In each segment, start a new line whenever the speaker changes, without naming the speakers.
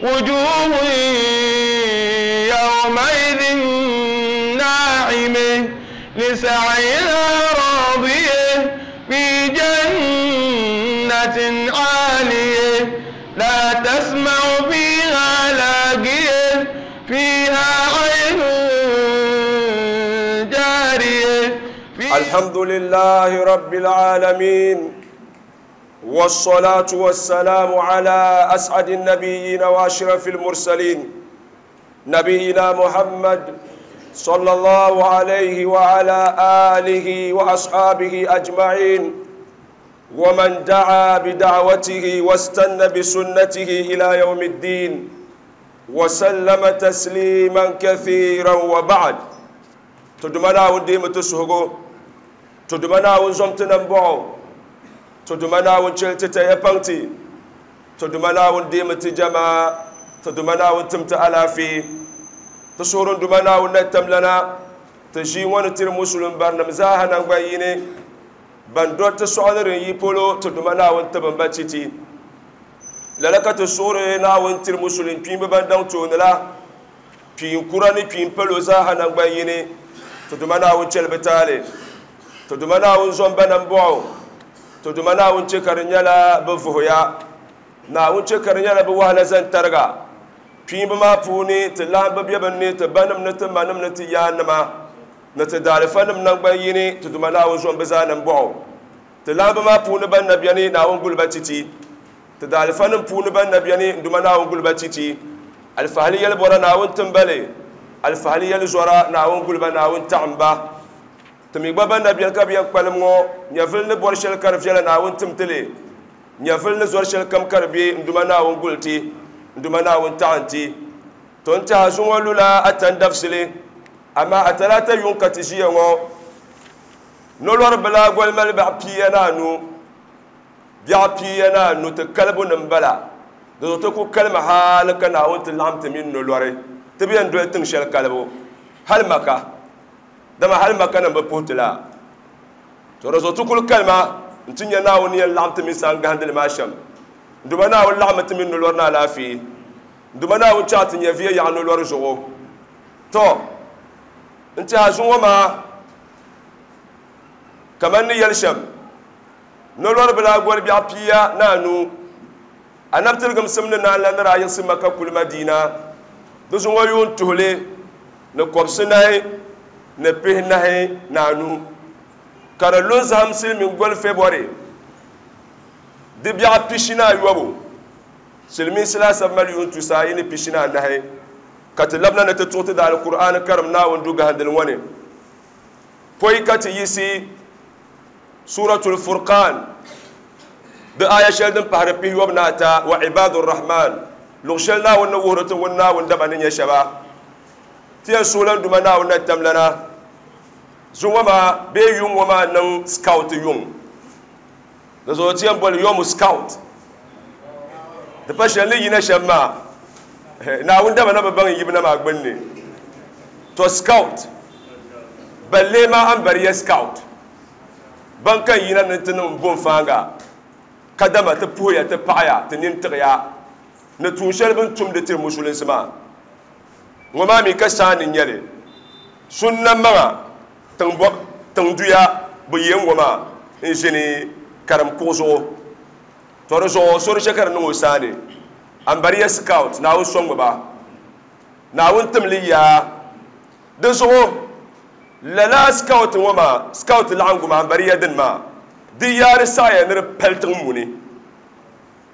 وجوه يومئذ ناعمة لسعيها راضية في جنة عالية لا تسمع فيها لاغية فيها عين جارية.
الحمد لله رب العالمين، والصلاة والسلام على أسعد النبيين وأشرف المرسلين، نبينا محمد صلى الله عليه وعلى آله وأصحابه أجمعين، ومن دعا بدعوته واستنى بسنته إلى يوم الدين وسلم تسليما كثيرا. وبعد، تدمنا ونديم تسهقو، تدمنا ونزمتنا نبعو، تدمنا ونشلت يبانتي، تدمنا ونديم تجمع، تدمنا ونتمت ألافي تسورن دمنا ونتم لنا تجي ونتر مسلم برنم زاهنا نبيني بندوت تسعدر يبولو تدمنا ونتبن باتيتي للك تسورنا ونتر مسلم بين بندون تونلا بين كوراني بين بلو زاهنا نبيني تدمنا ونشل بتالي تدمنا ونزوم بنبعو تدمنا ونشكر نيلا بفهيا نا ونشكر نيلا بوهلا زنترغا بين بما بوني تلام ببيبني تبنم نتمنم نتيانما نتدالفنم نبيني تدمنا ونزوم بزانم بعو تلام بما بوني بن نبيني نا ونقول باتيتي تدالفنم بوني بن نبيني دمنا ونقول باتيتي الفهلية البورا نا ونتنبلي الفهلية الزورا نا ونقول بنا ونتعمبا تمي بابا نبيان كبيان قلمو نيفل نبور شل كرفيلا نا ونتمتلي نيفل نزور شل كم كربي دمنا ونقولتي دمنا ونتعنتي تونتا زون لولا أتندفسلي أما أتلاتا يون كتجيه نولور بلا قول مال بعبينا نو بعبينا نو تكلبو نمبلا دوتوكو كلمة حالك ناونت لعمت من نولوري تبين دوي تنشل كلبو هل مكا دما هل مكا نمبوت لا ترزوتوكو الكلمة انتنيا ناوني لعمت من سانغاند الماشم دمنا ولعمت من نولورنا لا في دمنا وشات نيفيا يعني نولور جو تو انت هزوما ما كمان يلشم نولور بلا قول بيعبيا نانو أنا بتلقم سمنا لأن رأي سمك كل مدينة دزوا يون تهلي نكوبسناي نبهناي نانو كارلوز همسل من قول فبراير دي بيعبيشنا يوابو سلمين سلاسة مليون تسعين بيشنا نهي كتلبنا نتتوت دا القرآن الكريم نا وندوغ هندلواني بوي كتيسي سورة الفرقان بآية شلدن بحربيه وبناتا وعباد الرحمن لغشلنا ونوهرة ونا وندبنين يا شباب تيان سولان دمنا ونتم لنا زوما بي يوم وما نن سكاوت يوم لزو تيان بول يوم سكاوت دباشن لي ينا شما نا وندبنا ببان يبنا ما غبني تو سكاوت بل ما أمبري سكاوت بانكا ينا نتنم بون فانغا كدما تبويا تبايا تنين تغيا نتوشل بن توم دتر مسلم سما وما مي كسان نيالي سنة ما تنبوك تندويا بيم وما إنجني كرم كوزو تورزو سوري شكر نو ساني أمبريا سكاوت ناو سونغ با ناو تمليا دزو لا سكاوت وما سكاوت لعنغو ما أمبريا دن ما ديار سايا نر بلتن موني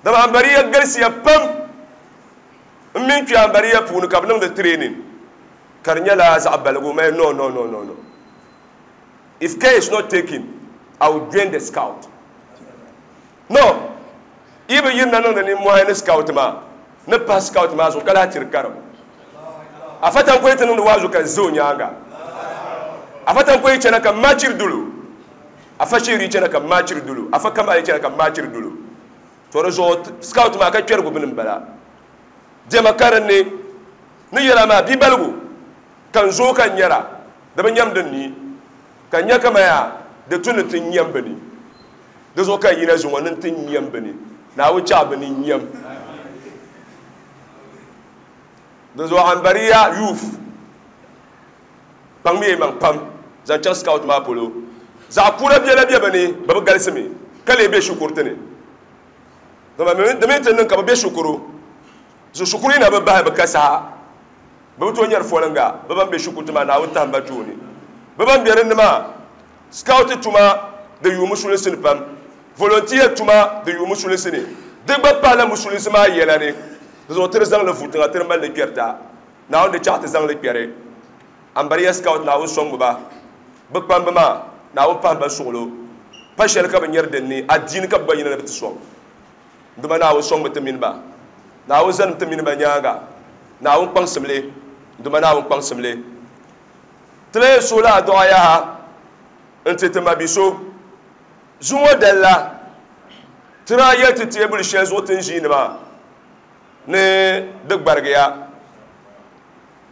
دم أمبريا غرسيا بام من في أمبريا بونو كابنم د ترينين كارنيا لا زعبلغو ما نو نو نو نو نو if care is not taken I will join the scout no ibe yin nan ni mo hen scout ma ne pas scout ma so kala tir karam afatan ko itanu wazu ka zo nyanga afatan ko itana ka machir dulu afashiri itana ka machir dulu afakama itana ka machir dulu to zo scout ma ka kwer gubin bala jema karan ne ni yara ma bi balgu kan zo kan yara da ban yam din ni kan ya kama ya da tunu tun yam bani da zo kan yi na zuwa nan tun yam bani na wuce abu ni yam Di zuɣu Ambariya Youth kpaŋmiya yi maŋ pam zaŋ chaŋ scout maa polo. Zaɣ kura biɛla be bɛ ni, bɛ bi galisi mi ka lee be shikuruti ni. Dama di mi ti niŋ ka bɛ be shikuru, zuɣu shikuru yi na bi bahi bɛ ka saha, bɛ bi tooi nyari foliŋga. Bɛ ban be shikuruti maa, Naawuni tahim ba tooni. Bɛ ban be dinni maa, scout tuma di yuui musulinsi ni pam, volunteer tuma di yuui musulinsi ni, di gba pahila musulinsi maa yɛla ni. Di zuɣu ti di zaŋ li vu tiŋa ti di mali li kpɛrita. Naawuni di chaɣ ti zaŋ li kpɛri. Ambariya scout Naawuni sɔŋmi ba. Bɛ kpamba maa, Naawuni pahim ba suɣilo. Pa shɛli ka bɛ nyari din ni, adiini ka bɛ gba yina ni bɛ ti sɔŋ. Dama Naawuni sɔŋmi ti mini ba. Naawuni zanim ti mini ba nyaaŋa. Naawuni kpaŋsim li. Dama Naawuni kpaŋsim li. Ti lahi yɛn suhila adu'a yaha n-ti ti mabi so. Zuŋɔ dali la, ti daa yɛli ti teebuli shɛli zuɣu ti ni ʒiini maa ni di gbarigiya,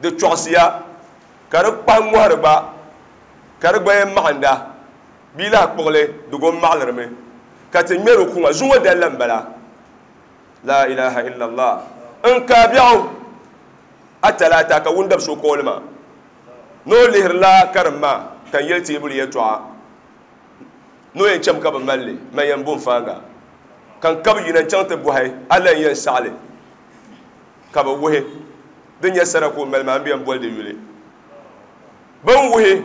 di chɔɣisiya, ka di kpahi ŋɔhiri gba, ka di gba yɛn maɣinda bee lahi kpuɣi li di go m-maɣilirimi ka ti ŋmɛri o kuŋa. Zuŋɔ dali la m-bala. La ilaha illallah. N kaai biɛɣu a talaata ka wundab so kooli ma ni o lihirila karim maa ka n yɛli teebuli yɛltɔɣa ni o yɛn cham ka bi mali li, man yɛn bo n-faaŋa. Ka n kabi yina n-chaŋ ti bɔhi a la n-yɛn saɣi li, ka bɛ wuhi din nyɛ sara ka o mali maa, m bi yɛn boli di yuli. Bɛ ni wuhi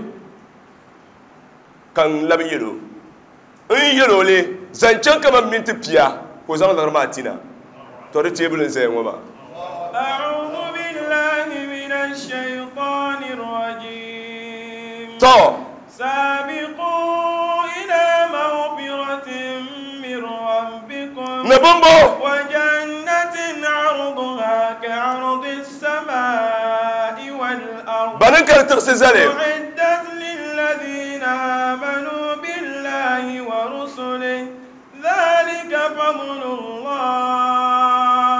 ka n labi yɛl o, n yɛl o li zaŋ chaŋ kaman minti pia ka o zaŋ liɣiri maa ti na. Tɔ di teebuli n-zaya ŋɔ maa. Tɔ!
سابقوا إلى مغفرة من ربكم
Ni bɔmbɔ.
وجنة عرضها كعرض السماء والأرض
Bani n-kari tiɣisi zali.
أعدت للذين آمنوا بالله ورسله ذلك فضل الله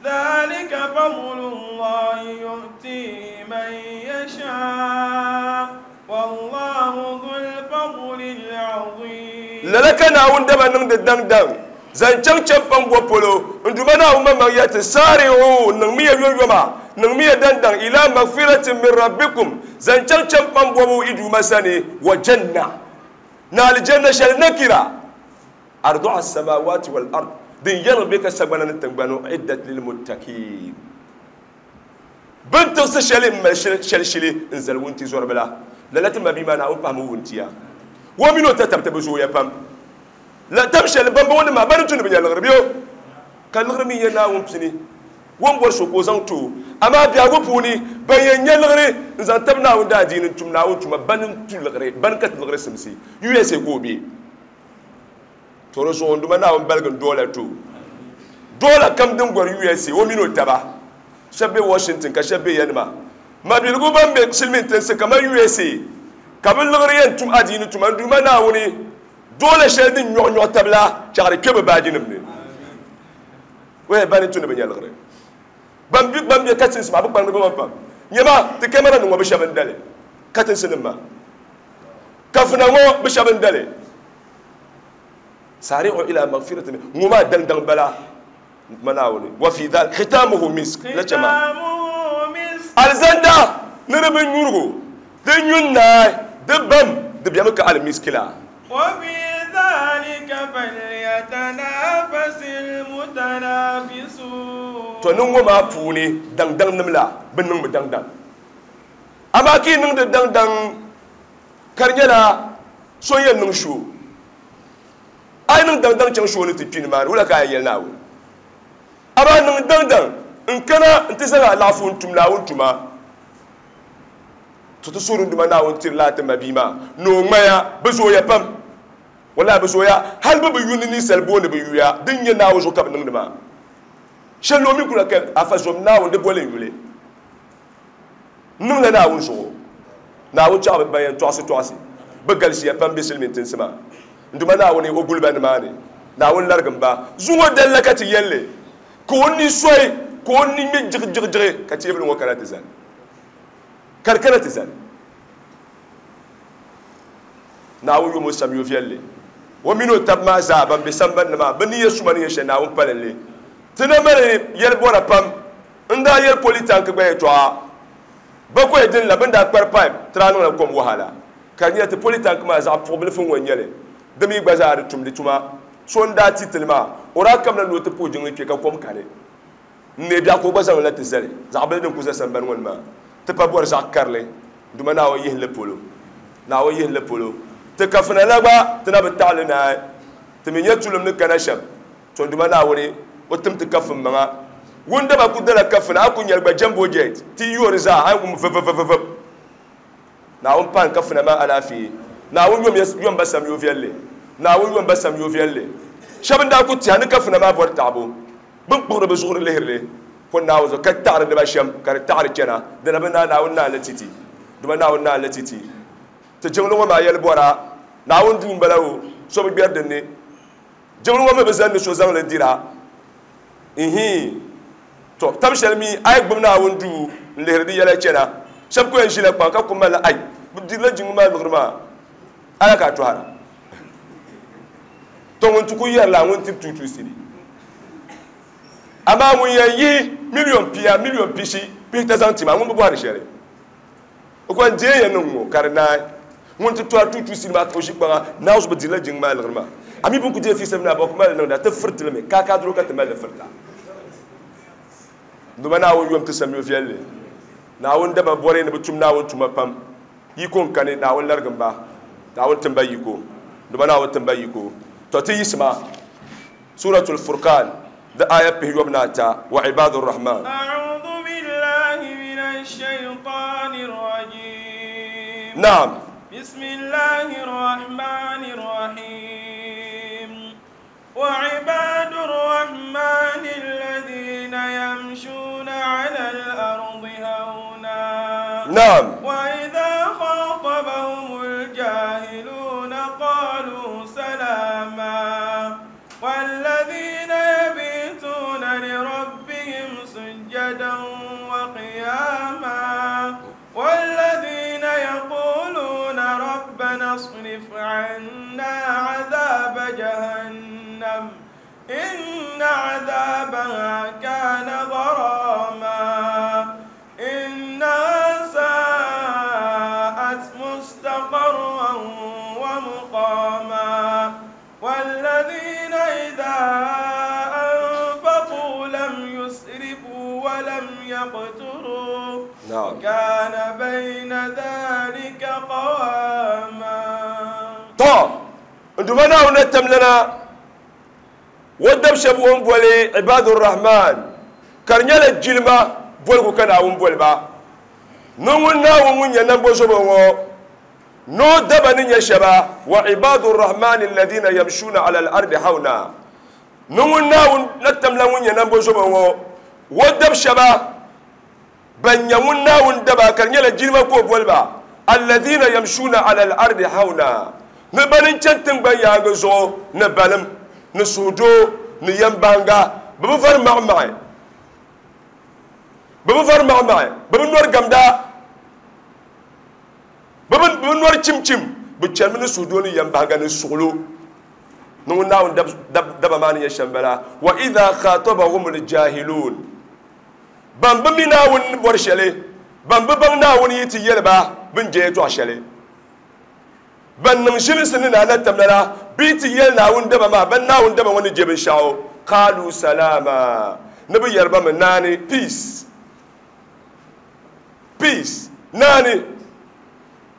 ذلك فضل الله يؤتيه من يشاء والله ذو الفضل العظيم
Lala ka Naawuni daba niŋdi daŋdaŋ zaŋ chaŋ chɛmpaŋ bo polo. N Duuma Naawuni maŋmaŋ yɛli ti, Saari'u, niŋmiya yoyoma, niŋmiya daŋdaŋ, ilaa magfiratin min rabbikum, zaŋ chaŋ chɛmpaŋ bobu yi Duuma sani, wa janna, ni alijanna shɛli nakira, arduha as-samawati wal-ard, din yɛliŋ be ka sagbana ni tiŋgbani, u'iddat lil-muttaqiin. Bɛ ni tiɣisi shɛli m-mali shɛli shili n-zali wuntizɔriba la, lala ti mabia maa Naawuni pahimi wuntia. O mini o tatabiti bi zooya pam. La tam shɛli bambɔŋɔnim maa ba ni tu ni bɛ nya liɣiri bɛ o, ka liɣiri mi nyɛ Naawuni pini. O ni bɔri so ka o zaŋ ti o. Amaa biɛhigu puuni, ban yɛn nya liɣiri n-zaŋ tabi Naawuni daadiini n-tum Naawuni tuma, bani n-tu liɣiri, bani ka ti liɣiri simsi. USA ka o be. To di zuɣu n Duuma Naawuni baligi n doola ti o. Doola kam din gɔri USA, o mini o taba shɛba be Washington ka shɛba be yanima. Mabiligu ban be silimiin tinsi kamani USA ka bɛ liɣiri yɛn tum adiini tuma n Duuma Naawuni doola shɛli din nyɔɣi nyɔɣi taba la chaɣiri kpe bɛ baajinima ni. O yɛli ba ni tu ni bɛ nya liɣiri. Ban be katinsi maa bɛ kpaŋdi bɛ maŋ pam. Nyama ti kamara nim ŋɔ bɛ shɛba n-dali katinsi nim maa. Kafuna ŋɔ bɛ shɛba n-dali. Sari'u ila magfiratin min, ŋɔ maa daŋdaŋ bala ma Naawuni, wa fi dhalik khitamuhu misk, la chɛ maa. Alizanda ni di binnyurigu di nyu n-naai di bam di bemi ka alimiski la.
Wa fi dhalika falyatanafasil mutanafisun.
Tɔ ni ŋɔ maa puuni daŋdaŋnim la bi niŋmi daŋdaŋ, amaa ka yi niŋdi daŋdaŋ ka di nyɛla so yɛn niŋ shoo. A yi niŋ daŋdaŋ chaŋ shoo ni ti kpi nimaani, wula ka a yɛn yɛli Naawuni? Amaa niŋ daŋdaŋ n-kana nti zaŋ alaafoo n-tum Naawuni tuma. To ti suhuri n Duuma Naawuni tirila a ti mabia maa ni o ŋmaya. Bɛ zooya pam. Wallahi bɛ zooya. Hali bɛ bi yu ni ninsal booni bɛ yuya. Din nyɛ Naawuni zuɣu ka bɛ niŋdi maa. Shɛli o mi kula ka afa zom Naawuni di boli n yuli. N niŋla Naawuni zuɣu. Naawuni chaɣ ban yɛn tɔɣisi tɔɣisi. Bɛ galisiya pam be silimiin tinsi maa. N Duuma Naawuni, o guli ba nimaani. Naawuni larigim ba. Zuŋɔ dali la ka ti yɛli li, ka o ni sɔi, ka o ni ŋme jiɣijiɣijiɣi, ka teebuli ŋɔ kana ti zani. Ka di kana ti zani. Naawuni yom o samyo viɛlli. O mini o tab maa zaa ban be sambani ni maa, bɛ ni yɛ suma ni nyɛ shɛli, Naawuni pali li. Ti na mali yɛlibɔra pam. N daa yɛli polytank gba yɛltɔɣa bakɔi din la bɛ ni daa kpari pipe ti daa niŋla kom wahala ka di nyɛla ti polytank maa zaɣ puɣibilifu ŋɔ n-nyɛ li. Di mi gba zaa di tumdi tuma. So n-daa ti ti li maa, o daa kamina ni o ti puhi jiŋli kpe ka kom kani. N neei biɛɣu ka o gba zaŋ li na ti zali zaɣ bili din ku za sambani ŋɔ ni maa. Ti pa bɔri zaɣ karili, Duuma Naawuni yihi li polo. Naawuni yihi li polo. Ti kafuna la gba ti na bi taɣi li naai. Ti mi nya tulim ni kana shɛm. To Duuma Naawuni, o tim ti kafin maŋa. Ŋun daba ku dala kafuna, a ku nyari gba jumbo jet, ti yi yoori zaa, a ni wum vivivivivib. Naawuni paai n kafuna maa alaafee. Naawuni yom ya yom ba samyo viɛlli. Naawuni yom ba samyo viɛlli. Shɛba n-daa ku tɛha ni kafuna maa bɔri taɣibu. Bɛ ni kpuɣiri bɛ zuɣuri lihiri li ko Naawuni zuɣu ka taɣiri di ba shɛm ka di taɣiri chana, dina bi naai Naawuni naan li ti ti. Duuma Naawuni naan li ti ti. Ti jiŋli ŋɔ maa yɛli bɔra, Naawuni duu m-bala o, so bi gbɛri din ni. Jiŋli ŋɔ mi bi zani ni so zaŋ li dira. Ihiin. Tɔ! Tab shɛli mi a yi gbubi Naawuni duu n-lihiri di yɛla chana, shɛba ku yɛn ʒila kpaŋ ka ku malila ai, bɛ dirila jiŋli maa liɣiri maa, ala ka a tɔhira. Tɔ! Ŋun ti ku yɛrila ŋun tiri tuutuu sili. Amaa ŋun yɛn yihi miliyon pia, miliyon pishi, pihita zaŋ ti ma, ŋun bi bɔhiri shɛli. O ko n deei ya niŋ ŋɔ ka di naai. Ŋun ti tɔri tuutuu sili maa ka o ʒi kpaŋa, Naawuni bi dirila jiŋ maa liɣiri maa. A mi bɛ ku deei fiisa bini a bɔ ku mali niŋda, ti firiti li mi, kaakaadiro ka ti mali li firita. Duuma Naawuni yom ti samyo viɛlli. Naawuni daba bɔri ni bɛ tum Naawuni tuma pam. Yiko n-kani, Naawuni larigim ba. Naawuni tim ba yiko. Duuma Naawuni tim ba yiko. Tɔ ti yiɣisima Suratul Furqan di aya pihiyɔbu ni ata, Wa ibaadu Rahman.
أعوذ بالله من الشيطان الرجيم.
Naam.
بسم الله الرحمن الرحيم. وعباد الرحمن الذين يمشون على الأرض هونا.
Naam.
وإذا خاطبهم الجاهلون قالوا سلاما. والذين يبيتون لربهم سجدا وقياما. والذين يقولون ربنا اصرف عنا عذاب جهنم إن عذابها كان غراما إنها ساءت مستقرا ومقاما. والذين إذا أنفقوا لم يسرفوا ولم يقتروا
Naam.
وكان بين ذلك قواما.
Tɔ! N Duuma Naawuni ni tam lana o dab shɛba o ni boli Ibaadu Rahman, ka di nyɛla jilima boligu ka Naawuni boli ba ni ŋun Naawuni ŋun nyɛ nambozobo ŋɔ ni o daba ni nyɛ shɛba, wa ibaadu Rahmani alladhina yamshuna ala al-ardi hawna, ni ŋun Naawuni na tamla ŋun nyɛ nambozobo ŋɔ o dab shɛba ban nyɛ ŋun Naawuni daba ka di nyɛla jilima ka o boli ba, alladhina yamshuna ala al-ardi hawna, ni bani n-chani tiŋgbani yaaŋa zuɣu ni balim, ni suhudoo, ni yɛmbaŋga, bɛ bi vari maɣimaɣi, bɛ bi vari maɣimaɣi, bɛ bi nɔri gamda, bɛ bi nɔri chimchim, bɛ chanimi ni suhudoo ni yɛmbaŋga ni suɣilo. Ni ŋun Naawuni daba maa ni nyɛ shɛm bala, wa idha khatabahumul jahilun, ban bi mi Naawuni ni bɔri shɛli, ban bi baŋ Naawuni yi ti yɛli ba bɛ ni je yɛtɔɣ shɛli, ban niŋ ʒilinsi ni naa na tamla la, bɛ yi ti yɛli Naawuni daba maa, ban Naawuni daba ŋɔ ni je binshɛɣu, qaalu salaama, ni bɛ yɛri ba mi naani, peace, peace, naani,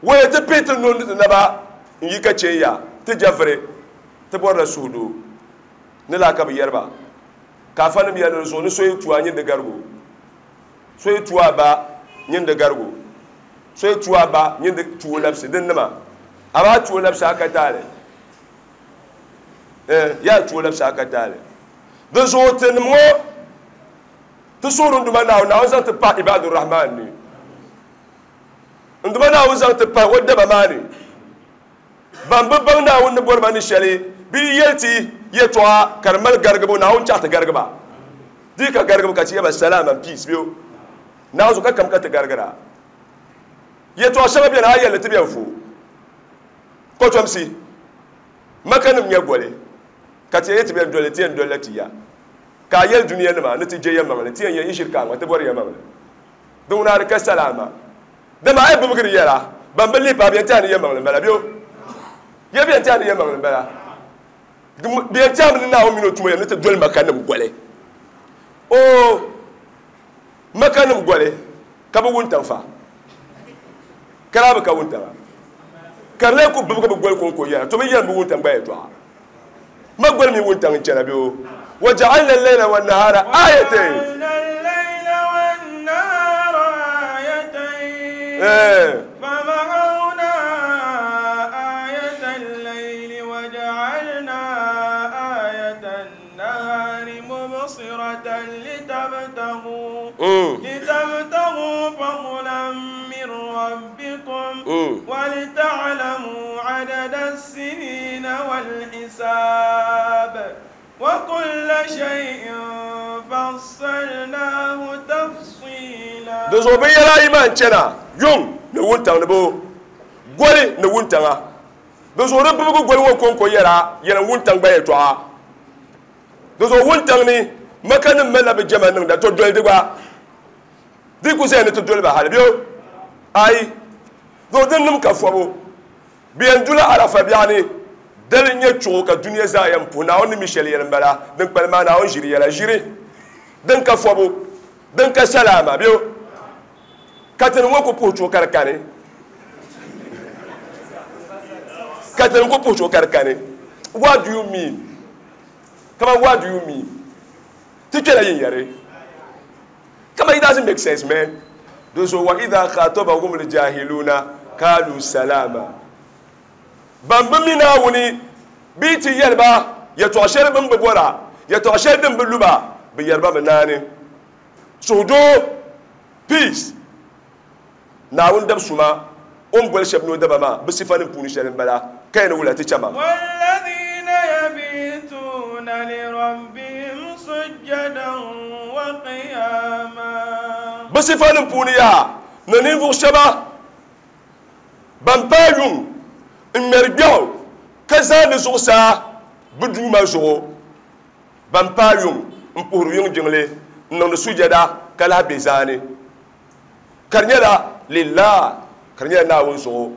waya ti pihi ti nuu ni ti naba n-yi ka chɛ ya, ti je viri, ti bɔrila suhudoo, ni laa ka bɛ yɛri ba. Ka afanim yɛli di zuɣu ni so yi tu a nyin di garigu, so yi tu a ba nyin di garigu, so yi tu a ba nyin di tu o labisi din nima, amaa tu o labisi a ka taali. Eh, yaa tu o labisi a ka taali. Di zuɣu tinim ŋɔ ti suhuri n Duuma Naawuni, Naawuni zaŋ ti pahi Ibaadu Rahman ni. N Duuma Naawuni zaŋ ti pahi o daba maa ni. Ban bi baŋ Naawuni ni bɔri ba ni shɛli, bɛ yi yɛli ti yɛtɔɣa ka di mali garigibu, Naawuni chaɣ ti garigi ba. Di yi ka garigibu ka ti yɛli ba salaam and peace be o. Naawuni zuɣu ka kam ka ti garigira. Yɛtɔɣ shɛŋa beni a yɛli li ti bɛn fo. Kɔtomsi, Makanim nyɛ goli, ka ti yɛli ti bɛn doli li, ti yɛn dolila ti ya. Ka a yɛli duniyanima ni ti je yɛlimaŋli, ti yɛn yɛn yi ʒiri ka a ŋma ti bɔri yɛlimaŋli. Din ŋuna di ka salaama. Dama a yi bibigiri yɛla, ban bi lihi paai bɛ yɛn tɛha ni yɛlimaŋli m-bala bee o? Ya bɛ yɛn tɛha ni yɛlimaŋli m-bala? Bɛ yɛn tɛhimi ni Naawuni mini o tumo yɛm ni ti doli Makanim goli. Oo, Makanim goli ka bɛ wuntaŋ fa, ka daa bi ka wuntaŋa, ka di lee ku bibigi bɛ goli kɔŋko yɛla, to bɛ yɛlim bɛ wuntaŋ gba yɛtɔɣa. Ma goli mini wuntaŋ n-chana bɛ o. Waja'alna al-layla wan-nahara ayatayn.
وجعلنا الليل والنهار آيتين فمحونا آية الليل وجعلنا آية النهار مبصرة لتبتغوا فضلا من ربكم ولتعلموا عدد السنين والحساب وكل شيء فصلناه تفصيلا.
Di zuɣu binyɛra ayi maa n-chana, yuŋ ni wuntaŋ ni bo goli ni wuntaŋa. Di zuɣu di bibigi goli ŋɔ kɔŋko yɛra yɛlim wuntaŋ gba yɛtɔɣa. Di zuɣu wuntaŋ ni Makanim malila bɛ jɛma niŋda, to doli di gba. Di ku zaya ni ti doli ba hali bɛ o? Aai! Di zuɣu din nim ka fɔbu. Bɛ yɛn dula Arafa biɛɣu ni dali n-nyɛ chuɣu ka dunia zaa yɛn puhi Naawuni ni mi shɛli yɛli m-bala, din kpalim maa Naawuni ʒiri yɛla ʒiri din ka fɔbu, din ka salaama bɛ o? Ka tinim ŋɔ ku puhi chuɣu ka di kani. Ka tinim ku puhi chuɣu ka di kani. What do you mean? Kaman what do you mean? Ti kpɛla yin yɛri. Kaman it doesn't make sense man. Di zuɣu wa idha khatabahum al-jahiluna kalu salama. Ban bi mi Naawuni bɛ yi ti yɛli ba yɛtɔɣ shɛli bɛ ni bi bɔra, yɛtɔɣ shɛli din bi lu ba, bɛ yɛri ba mi naani. Suhudoo, peace. Naawuni dab suma, o ni boli shɛba ni o daba maa, bɛ sifanim puuni shɛli m-bala, ka yɛn ni wula ti chama.
والذين يبيتون لربهم سجدا وقياما.
Bɛ sifanim puuni yaha, ni ninvuɣ shɛba ban paai yuŋ n-ŋmɛri gbɛɣu ka zaandi zuɣusaa bɛ Duuma zuɣu, ban paai yuŋ m-puhiri yuŋ jiŋli n-niŋdi sujada ka lahi be zaani. Ka di nyɛla lillah, ka di nyɛla Naawuni zuɣu.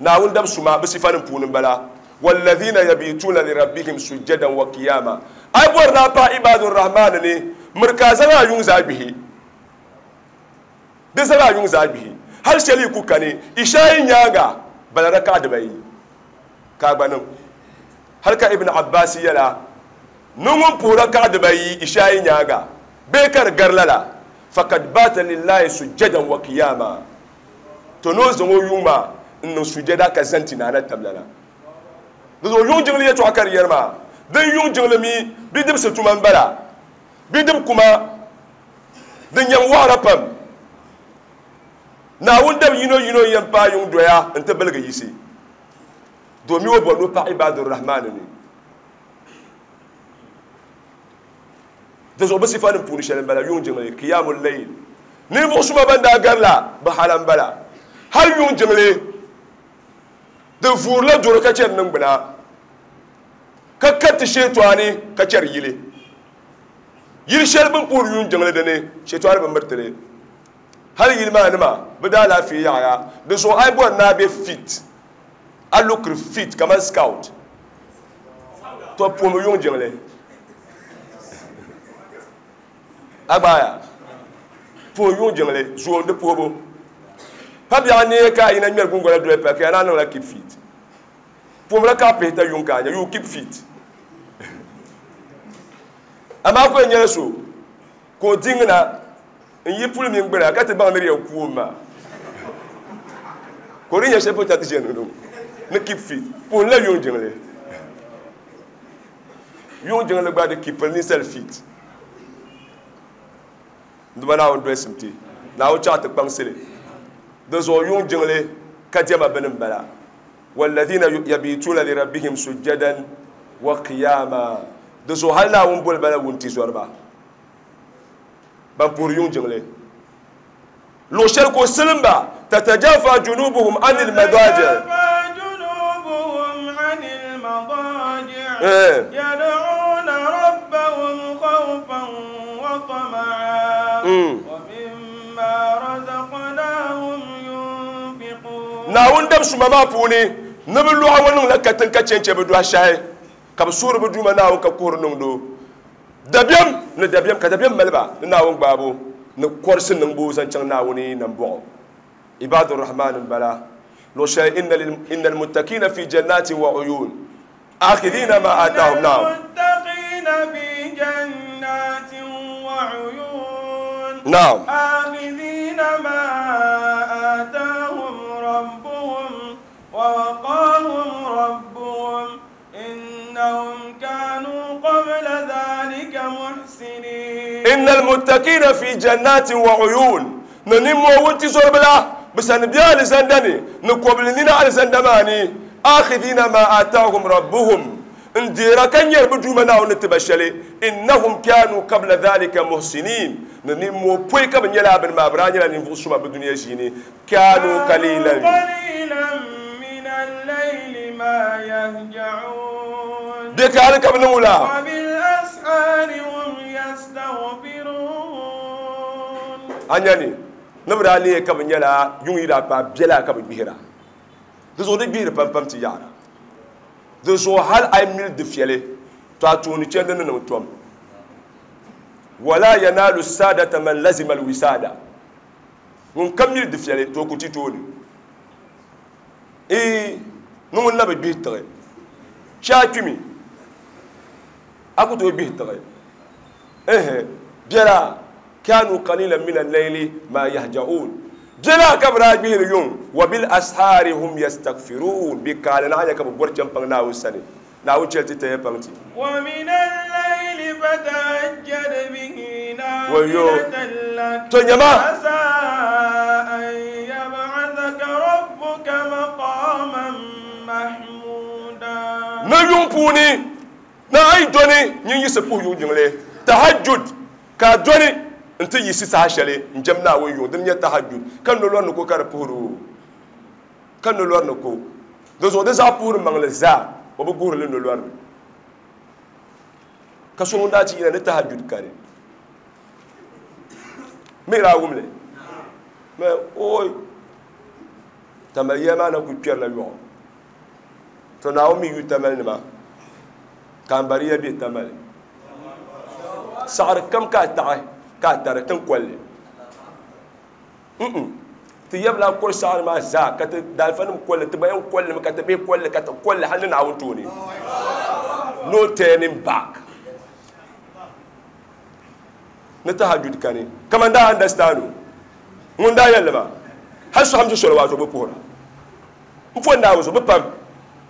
Naawuni dab suma bɛ sifanim puuni m-bala, Walladhina yabituna lirabbihim sujjadan wa qiyama. A yi bɔri ni a paai Ibaadu Rahmaani ni, miri ka a zaŋ a yuŋ zaa gbihi. Di zaŋ a yuŋ zaa gbihi. Hali shɛli yi ku kani, Ishaayi nyaaŋa bala raka'a dibayi ka a gba niŋ. Hali ka Ibn Abbas yɛla, Ni ŋun puhi raka'a dibayi Ishaayi nyaaŋa bee ka di gari lala, fakad baata lillahi sujjadan wa qiyama, to ni o zaŋ o yuŋ maa n-niŋ sujada ka zani ti naana tamlana. Di zuɣu yuŋ jiŋli yɛtɔɣa ka di yɛri maa, din yuŋ jiŋli mi bidibisi tuma m-bala, bidib kuma din yɛn wɔɣira pam. Naawuni dab yino yino n-yɛn paai yuŋ doya nti biligi yisi, domi o bɔri ni o paɣi Ibaadu Rahmaani ni. Di zuɣu bɛ sifanim puuni shɛli m-bala yuŋ jiŋli, Qiyamul Layl. Ninvuɣ suma ban daa gari la bɛ hala m-bala. Hal yuŋ jiŋli di vuurila doro ka chɛri niŋgbuna, ka kariti sheetɔani ka chɛri yili. Yili shɛli bɛ ni puhiri yuŋ jiŋli di ni, sheetɔani bi miriti li. Hal yili maa nima bɛ daalaafee yaɣiya. Di zuɣu a yi bɔri ni a be fit, a lookiri fit kaman scout, to puhimi yuŋ jiŋli. A gbaaya puhi yuŋ jiŋli zuo di puhibu. Pa biɛɣu neei ka a yina ŋmɛri guŋgona doli pali ka ya naan niŋla keep fit. Puhimila ka a pihita yuŋ ka a nya you keep fit. Amaa ku yɛn nyɛla so ka o diŋna n-yi puli mini gbuna ka ti baŋ ni di yɛn kuum maa. Ka o di nya shɛli polo ti ʒe ni ni keep fit. Puhimila yuŋ jiŋli. Yuŋ jiŋli gba di keepiri ninsal fit. N Duuma Naawuni dolisim ti. Naawuni chaɣ ti kpaŋsi li. Di zuɣu yuŋ jiŋli ka diɛma bini m-bala. Walladhina yabituna lirabbihim sujjadan wa qiyama. Di zuɣu hali Naawuni boli ba la wuntizɔriba ban puhiri yuŋ jiŋli. Luɣ shɛli ka o silim ba, tatajafa junubuhum anil madaji.
Tatajafa junubuhum anil madaji. Yad'una rabbahum khawfan ومما رزقناهم ينفقون.
Naawuni dab suma maa puuni ni bɛ lɔɣu ŋɔ niŋla katiŋ ka chɛnchɛ bɛ dɔhi shɛhi, ka bɛ suhiri bɛ Duuma Naawuni ka kuhiri niŋdi o dabiɛm ni dabiɛm, ka dabiɛm mali ba ni Naawuni gbaabu ni kɔrisi niŋbu zaŋ chaŋ Naawuni nambɔɣu. Ibaadu Rahman m-bala, luɣ shɛli inna al-muttaqiina fi jannatin wa uyuun akhidhiina ma aatahum.
إن
Naam.
المتقين في جنات وعيون
Naam.
آخذين ما آتاهم ربهم ووقاهم ربهم إنهم كانوا قبل ذلك محسنين.
Inna al-muttaqina fi jannatin wa uyun, ni nimmoo wuntizɔriba la bɛ sani be alizanda ni, ni kɔbili nina alizanda maa ni, akhidhina ma aatahum rabbuhum, n deera ka nyɛri bɛ Duuma Naawuni ni ti ba shɛli, innahum kanu qabla dhalika muhsinin, ni nimmoo pɔi ka bɛ nyɛla bini maa, bɛ daa nyɛla ninvuɣ suma bɛ dunia ʒiini, kanu
كانوا
qalilan
قليلا من الليل ما يهجعون
bɛ ka hali ka bɛ niŋ wula.
وبالأسحار هم يستغفرون.
A nya ni ni bɛ daa leei ka bɛ nyɛla yuŋ yi daa kpaai biɛla ka bɛ gbihira, di zuɣu di gbihiri pam pam ti yaɣira. Di zuɣu hali a yi mili di fiɛli, to a tooni chandi ni niŋ tom. Wala yanalu saadata man lazima alwisada, ŋun kam mili di fiɛli to o ku ti tooni. Ee, ni ŋun na bi gbihi tiɣi shee a kpimi, a ku tooi gbihi tiɣi. Ehe, biɛla kanu qalilan min al-layli ma yahja'un, biɛla ka bɛ daa gbihiri yuŋ, wa bil ashaari hum yastaghfirun, bɛ kaali na a nya ka bɛ bɔri chɛmpaŋ Naawuni sani. Naawuni chɛli ti taya paŋ ti.
ومن الليل فتهجد به
Wayo.
نافلة لك
To nyama
عسى أن يبعثك ربك مقاما محمودا.
Ni yuŋ puuni na a yi dɔni nyin yiɣisi puhi yuŋ jiŋli tahajjud, ka a dɔni n-ti yiɣisi saha shɛli n-jɛm Naawuni yuŋ, dini n-nyɛ tahajjud, ka nolɔri ni ko ka di puhiri o, ka nolɔri ni ko. Di zuɣu di zaɣ puhiri maŋli zaa o bi guhiri li nolɔri ni. Ka so ŋun daa ti yina ni tahajjud kani mi daa wumli mɛ oi tamali ya maa na ku kpɛrila yɔɣu. To Naawuni mi yu tamali nima ka n bari ya bɛ tamali saɣari kam ka a taɣi ka a tari tin kolli ti yɛbila kɔri saɣari maa zaa ka ti daalifa nim kolli, ti ba yɛn kolli mi ka ti bihi kolli ka ti kolli hali ni Naawuni tooni. No turning back. Ni tahajjud kani kaman daa understand o ŋun daa yɛlli maa hali sɔham soli wato bi puhira n fo Naawuni zuɣu bi pam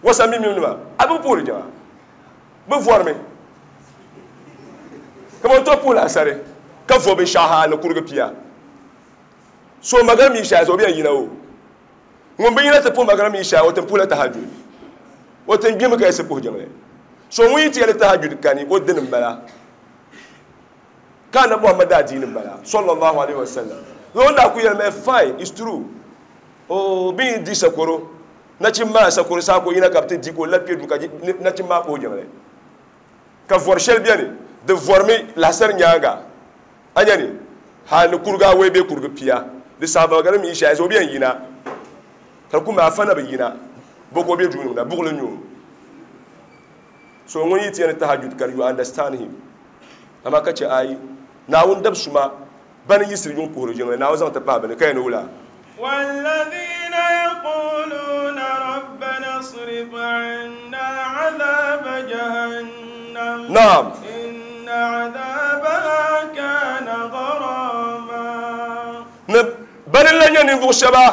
wasa mimim nima a bi puhiri jama bi vɔrimi kaman to puhila asari ka vo binshaɣu ha ni kurigi pia so magari mi shɛli o bi yɛn yina o ŋun bi yina ti puhi magari mi shɛli o tin puhila tahajjud, o tin gbimi ka yiɣisi puhi jiŋli. So ŋun yi ti yɛli tahajjud kani o dini m-bala ka anabi Muhammad daa diini m-bala sallallahu alaihi wasallam. O daa ku yɛli mi fine, it's true, o bi yi di sakoro nachim maa sakoro saa ka o yina ka bi ti di ka o labi kpe duu ka nachim maa puhi jiŋli ka vɔri shɛli bɛni di vɔrimi lahisari nyaanga a nya ni hali ni kurigu awɔi bee kurigu pia di saɣaba ka di mi yi shɛli o bi yɛn yina ka di ku maa afa na bi yina bo ka o bɛ duu niŋda buɣuli n-nyɛ o. So ŋun yi ti yɛn ni tahajjud kani, you understand him, amaa ka chɛ ayi Naawuni dab suma bani yiɣisiri yuŋ puhiri jiŋli, Naawuni zaŋ ti pahi bɛ ni ka yɛn ni wula.
والذين يقولون ربنا اصرف عنا عذاب جهنم
Naam.
إن عذابها كان غراما.
Ni bani n-lahi nyɛ ninvuɣ shɛba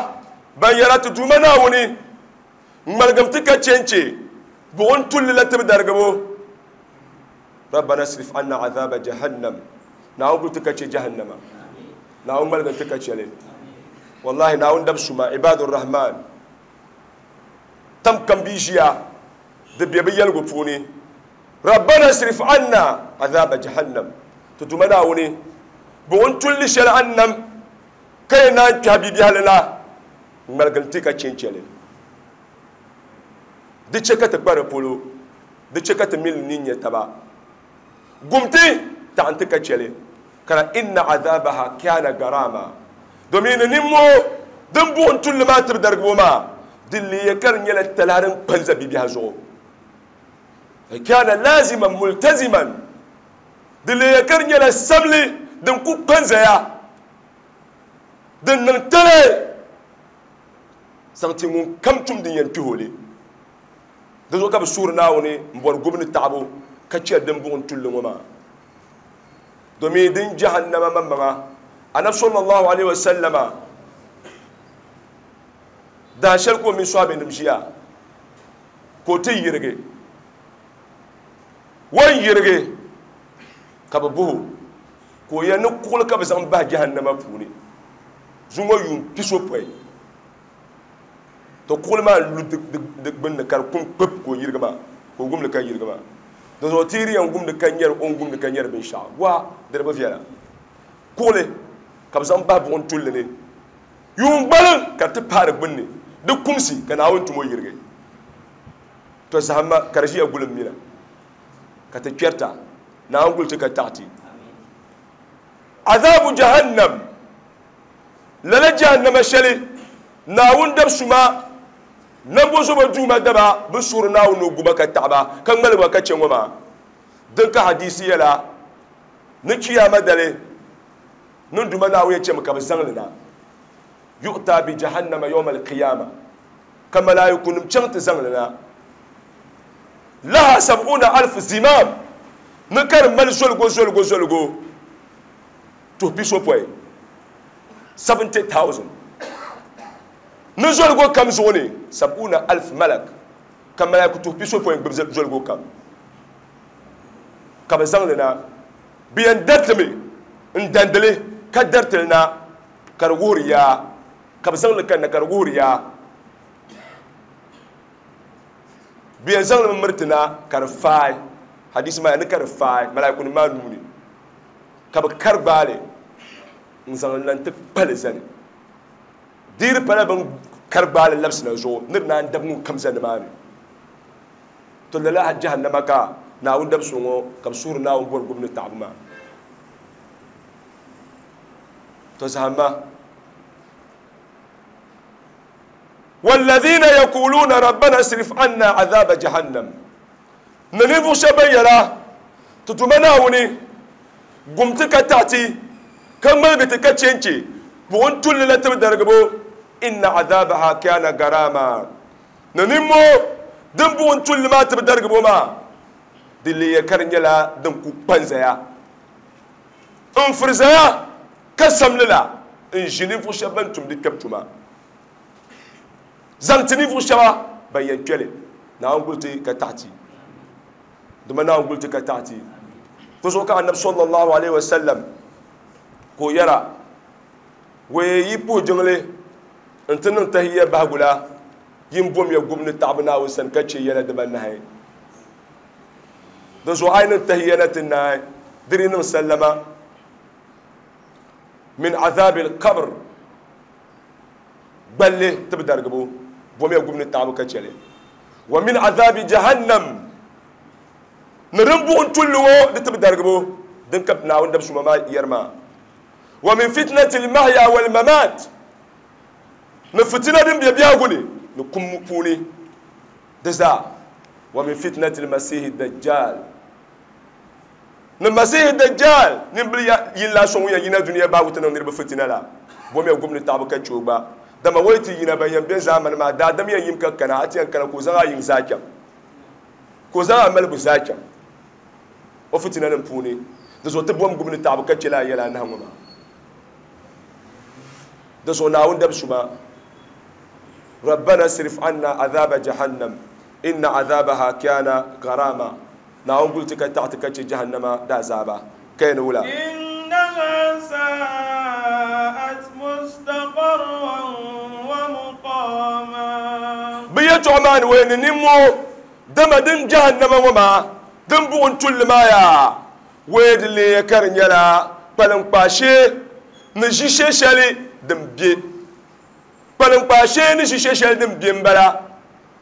ban yɛra ti Duuma Naawuni, ŋmaligim ti ka chɛnchɛ buɣim tulli la tibidarigibo. Rabbana srif anna azaba jahannam, Naawuni kuli ti ka chɛ jahannama, Naawuni ŋmaligim ti ka chɛli. Wallahi Naawuni dab suma ibadur rahman tam kam bi ʒiya di be bɛ yɛligu puuni Rabbana srif anna azaba jahannam, ti Duuma Naawuni buɣim tulli shɛli annam ka yɛn naan kpɛhi bibiɛhili la, ŋmaligim ti ka chɛnchɛli. Di chɛ ka ti kpa di polo, di chɛ ka ti mini ni nyɛ taba. Gumti taɣin ti ka chɛli. Ka inna adhabaha kana garama. Domin ni nimmoo din buɣim tulli maa tibidarigibo maa, din leeya ka di nyɛla talahi din kpa n-za bibiɛhi zuɣu. Kana laziman multaziman. Di leeya ka di nyɛla samli din ku kpa n-zaya, din niŋ talahi zaŋ ti ŋun kam tum din yɛn kpihi o li. Di zuɣu ka bɛ suhiri Naawuni m-bɔri gubu ni taɣibu ka chɛri din buɣim tulli ŋɔ maa. Domin din jahannama maŋmaŋa, Anabi sallallahu alaihi wasallama daa shɛli ka o mini sɔhabinim ʒiya ka o ti yirigi. O ni yirigi ka bɛ buhi o ka o yɛli ni kuɣili ka bɛ zaŋ bahi jahannama puuni zuŋɔ yuun pisopɔin. To kuɣili maa n-lu di gbunni ka di kum kpib ka o yirigi maa, ka o gumli ka yirigi maa. Di zuɣu ti yi di yɛn gumdi ka nyari o ni gumdi ka nyari binshɛɣu, waa di di bi viɛla. Kuɣili ka bɛ zaŋ bahi buɣim tulli ni yuun gbaliŋ ka di ti paai di gbunni, di kumsi ka Naawuni tum o yirigi. To zahimma ka di ʒiya guli m mina ka ti kpɛrita, Naawuni guli ti ka taɣi ti. Azabu Jahannam. Lala jahannama shɛli Naawuni dab suma nambozobo Duuma daba bi suhiri Naawuni ni o gu ba ka taɣi ba ka ŋmaligi ba ka chɛ ŋɔ maa. Din ka hadiisi yɛla ni Chiyaama dali ni n Duuma Naawuni yɛn chɛmi ka bɛ zaŋ li na, Yu'taa bi jahannama yawma al-qiyama, ka malaaikunim chaŋ ti zaŋ li na, laha sab'una alf zimam, ni ka di mali zoligo zoligo zoligo tuhi pisopɔin, 70,000, ni zoligo kam zuɣu ni sab'una alf malak, ka malaiku tuhi pisopɔin gbibi zoligo kam, ka bɛ zaŋ li na. Bɛ yɛn dariti mi n-dandi li ka dariti li na ka di wuhiri yaa, ka bɛ zaŋ li kanna ka di wuhiri yaa. Bɛ yɛn zaŋ li mi miriti na ka di faai, hadisi maa ni ka di faai malaikunim maa nuu ni. Ka bɛ kari gbaai li n-zaŋ li na nti kpa li zani. Di yi di pala bɛ ni kari gbaai li labisi na zuɣu ni di naan dabi ŋunkam za nimaani. To lala jahannama ka Naawuni dabisili ŋɔ ka bɛ suhiri Naawuni bɔri gubu ni taɣibu maa. To zahimma. Walladhina yaquluna rabbana srif anna adhaba jahannam. Ni ninvuɣ shɛb bɛn yɛra, Ti Duuma Naawuni, gum ti ka taɣi ti, ka ŋmaligi ti ka chɛ n-chɛ buɣim tulli la tibidarigibo, inna adhabaha kana garama. Ni nimmoo din buɣim tulli maa tibidarigibo maa, di leeya ka di nyɛla din ku kpa n-zaya n-firi zaya ka samli la n-ʒi ninvuɣ shɛb bɛn tumdi kpɛbu tuma. Zaŋ ti ninvuɣ shɛba ban yɛn kpe li, Naawuni guli ti ka taɣi ti. Dama Naawuni guli ti ka taɣi ti. Di zuɣu ka Anabi sallallahu alaihi wasallam ka o yɛra, Wee yi puhi jiŋli n-ti niŋ tahiyya bahigu la, yin bomya gubu ni taɣibu Naawuni sani ka chɛ yɛla dibanahi. Di zuɣu a yi niŋ tahiyya na ti naai, di di niŋ sallama min azabil qabr. Gballi tibidarigibo, bomiya gubu ni taɣibu ka chɛ li. Wa min azabi jahannam, ni din buɣim tulli ŋɔ di tibidarigibo din ka Naawuni dabisuma maa yɛri maa. Wa min fitnati l-mahya wal-mamat, ni fitina din be biɛhigu ni ni kum puuni di zaa. Wa min fitnati l-masihi dajjal, Ni Masihi Dajjal nimbili yin la so ŋun yɛn yina dunia bahigu ti niŋ niriba fitina la, bomiya gubu ni taɣibu ka chɛ o gba. Dama o yi ti yina, ban yɛn be zaamani maa daadam yɛn yim ka kana, a ti yɛn kana ka o zaŋ a yiŋ zaa chaŋ, ka o zaŋ a malibu zaa chaŋ o fitinanim puuni. Di zuɣu ti bom gubu ni taɣibu ka chɛ lala yɛla anahi ŋɔ maa. Di zuɣu Naawuni dabisuma, Rabbana sirif anna azaba jahannam, inna azabaha kana gharama. Naawuni guli ti ka taɣi ti ka chɛ jahannama daazaaba. Ka ya ni wula?
Innaha sa'at mustaqarran wa muqama.
Bɛ yɛltɔɣa maa ni waya ni nimmoo, dama din jahannama ŋɔ maa din buɣim tulli maa yaa, waya di leeya ka di nyɛla kpaliŋkpaa shee ni ʒishee shɛli din be. Kpaliŋkpaa shee ni ʒishee shɛli din be m-bala.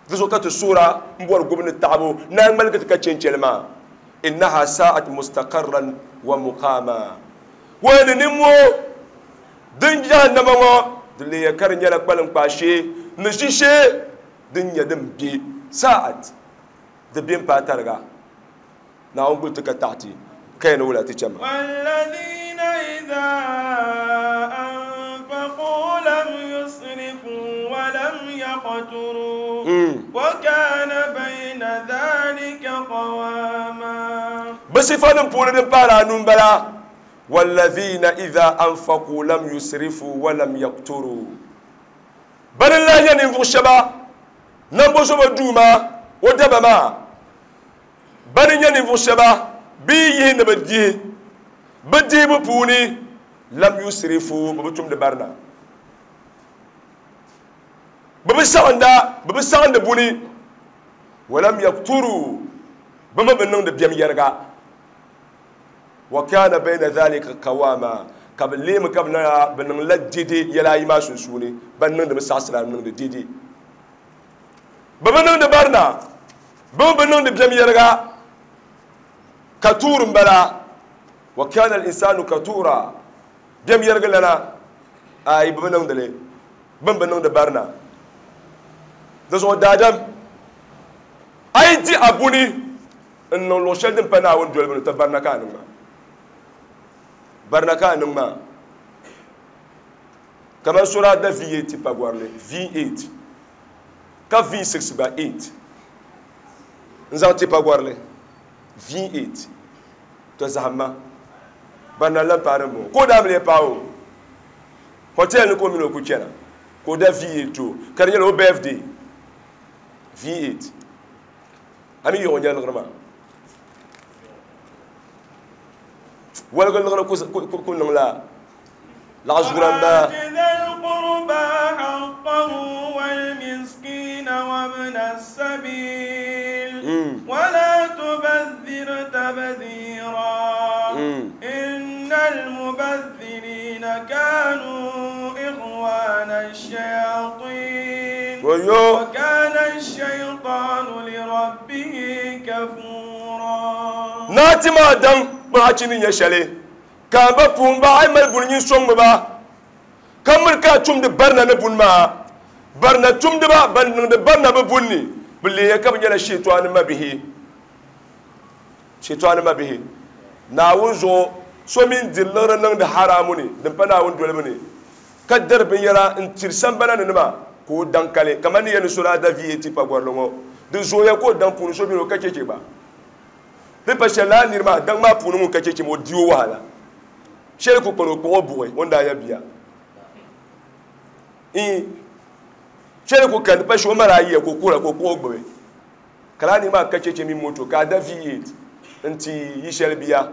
Di zuɣu ka ti suhira m-bɔri gubu ni taɣibu ni a ŋmaligi ti ka chɛnchɛli maa. Innaha sa'at mustaqarran wa muqama. Wai ni nimmoo din jahannama ŋɔ di leeya ka di nyɛla kpaliŋkpaa shee ni ʒishee din nyɛ din be sa'at di be m-paai tariga. Naawuni guli ti ka taɣi ti ka yɛn ni wula ti chɛ ma.
والذين إذا أنفقوا لم يسرفوا ولم يقتروا وكان بين ذلك قواما.
Bɛ sifanim puuni din pahiri anu m-bala, Wallazina idha anfaqu lam yusrifu walam yaqturu. Bani n-lahi nyɛ ninvuɣ shɛba Nambozobo Duuma o daba maa. Bani n-nyɛ ninvuɣ shɛba bɛ yi yihi ni bɛ dihi bɛ dihibu puuni, lam yusrifu, bɛ bi tumdi barina. Bɛ bi saɣinda, bɛ bi saɣindi buni, walam yaqturu, bɛ mi bi niŋdi biɛm yɛriga. Wa kana bayna dhalika qawama, ka bɛ leemi ka bɛ na bɛ niŋla dede yɛla ayi maa sunsuuni, ban niŋdi mi saɣisira niŋdi dede. Bɛ bi niŋdi barina, bɛ mi bi niŋdi biɛm yɛriga. Katuur m-bala, wa kana al-insanu katura, biɛm yɛrigi lana, ayi bɛ bi niŋdi li, bɛ mi bi niŋdi barina. Di zuɣu daadam, a yi di a buni n-niŋ luɣ shɛli din pa Naawuni dolibu ni, tɔ barina ka a niŋ maa. Barina ka a niŋ maa. Kaman so daa da V8 tipa gɔrili, V8, ka V6 gba 8 n-zaŋ tipa gɔrili, V8, tɔ zahimma. Barina n-lan paai din bɔŋɔ. Ka o daa bi lee paai o hotel ni ka o mini o ku chana, ka o da V8 ti o, ka di nyɛla o birthday, V8. A mi yiɣi o nya liɣiri maa. Woligi liɣiri ku niŋla laɣ zuɣura m-bala.
وآت ذا القربى حقه والمسكين وابن السبيل ولا تبذر تبذيرا إن المبذرين كانوا إخوان الشياطين وكان الشيطان لربه كفورا.
Naa ti maa daŋ kpaɣachi ni nyɛ shɛli, ka a ba puhim ba, a yi mali buni nyin sɔŋmi ba, ka miri ka a tumdi barina ni buni maa. Barina tumdiba ban niŋdi barina bɛ buni ni, bɛ leeya ka bɛ nyɛla shiɛtɔɣani mabihi. Shiɛtɔɣani mabihi. Naawuni zuɣu so mi n-diri liɣiri niŋdi haraamu ni din pa Naawuni dolibu ni, ka dari binyɛra n-tiri sambana ni nima ka o daŋ kali, kamani ni yɛli ni so daa da VAT pagɔrili ŋɔ. Di zooya ka o daŋ puuni so beni o ka cheche gba. Di pa shɛli lala niri maa daŋ maa puuni ŋun ka cheche maa o di o wahala. Shɛli ku kpani o kpuɣi o buɣi o ni daa ya bia. Iin, shɛli ku kani di pa shɛli o ma daa yiya ka o kuhira ka o kpuɣi o gbubi. Ka lala niri maa ka cheche mini moto ka a da V8 nti yi shɛli bia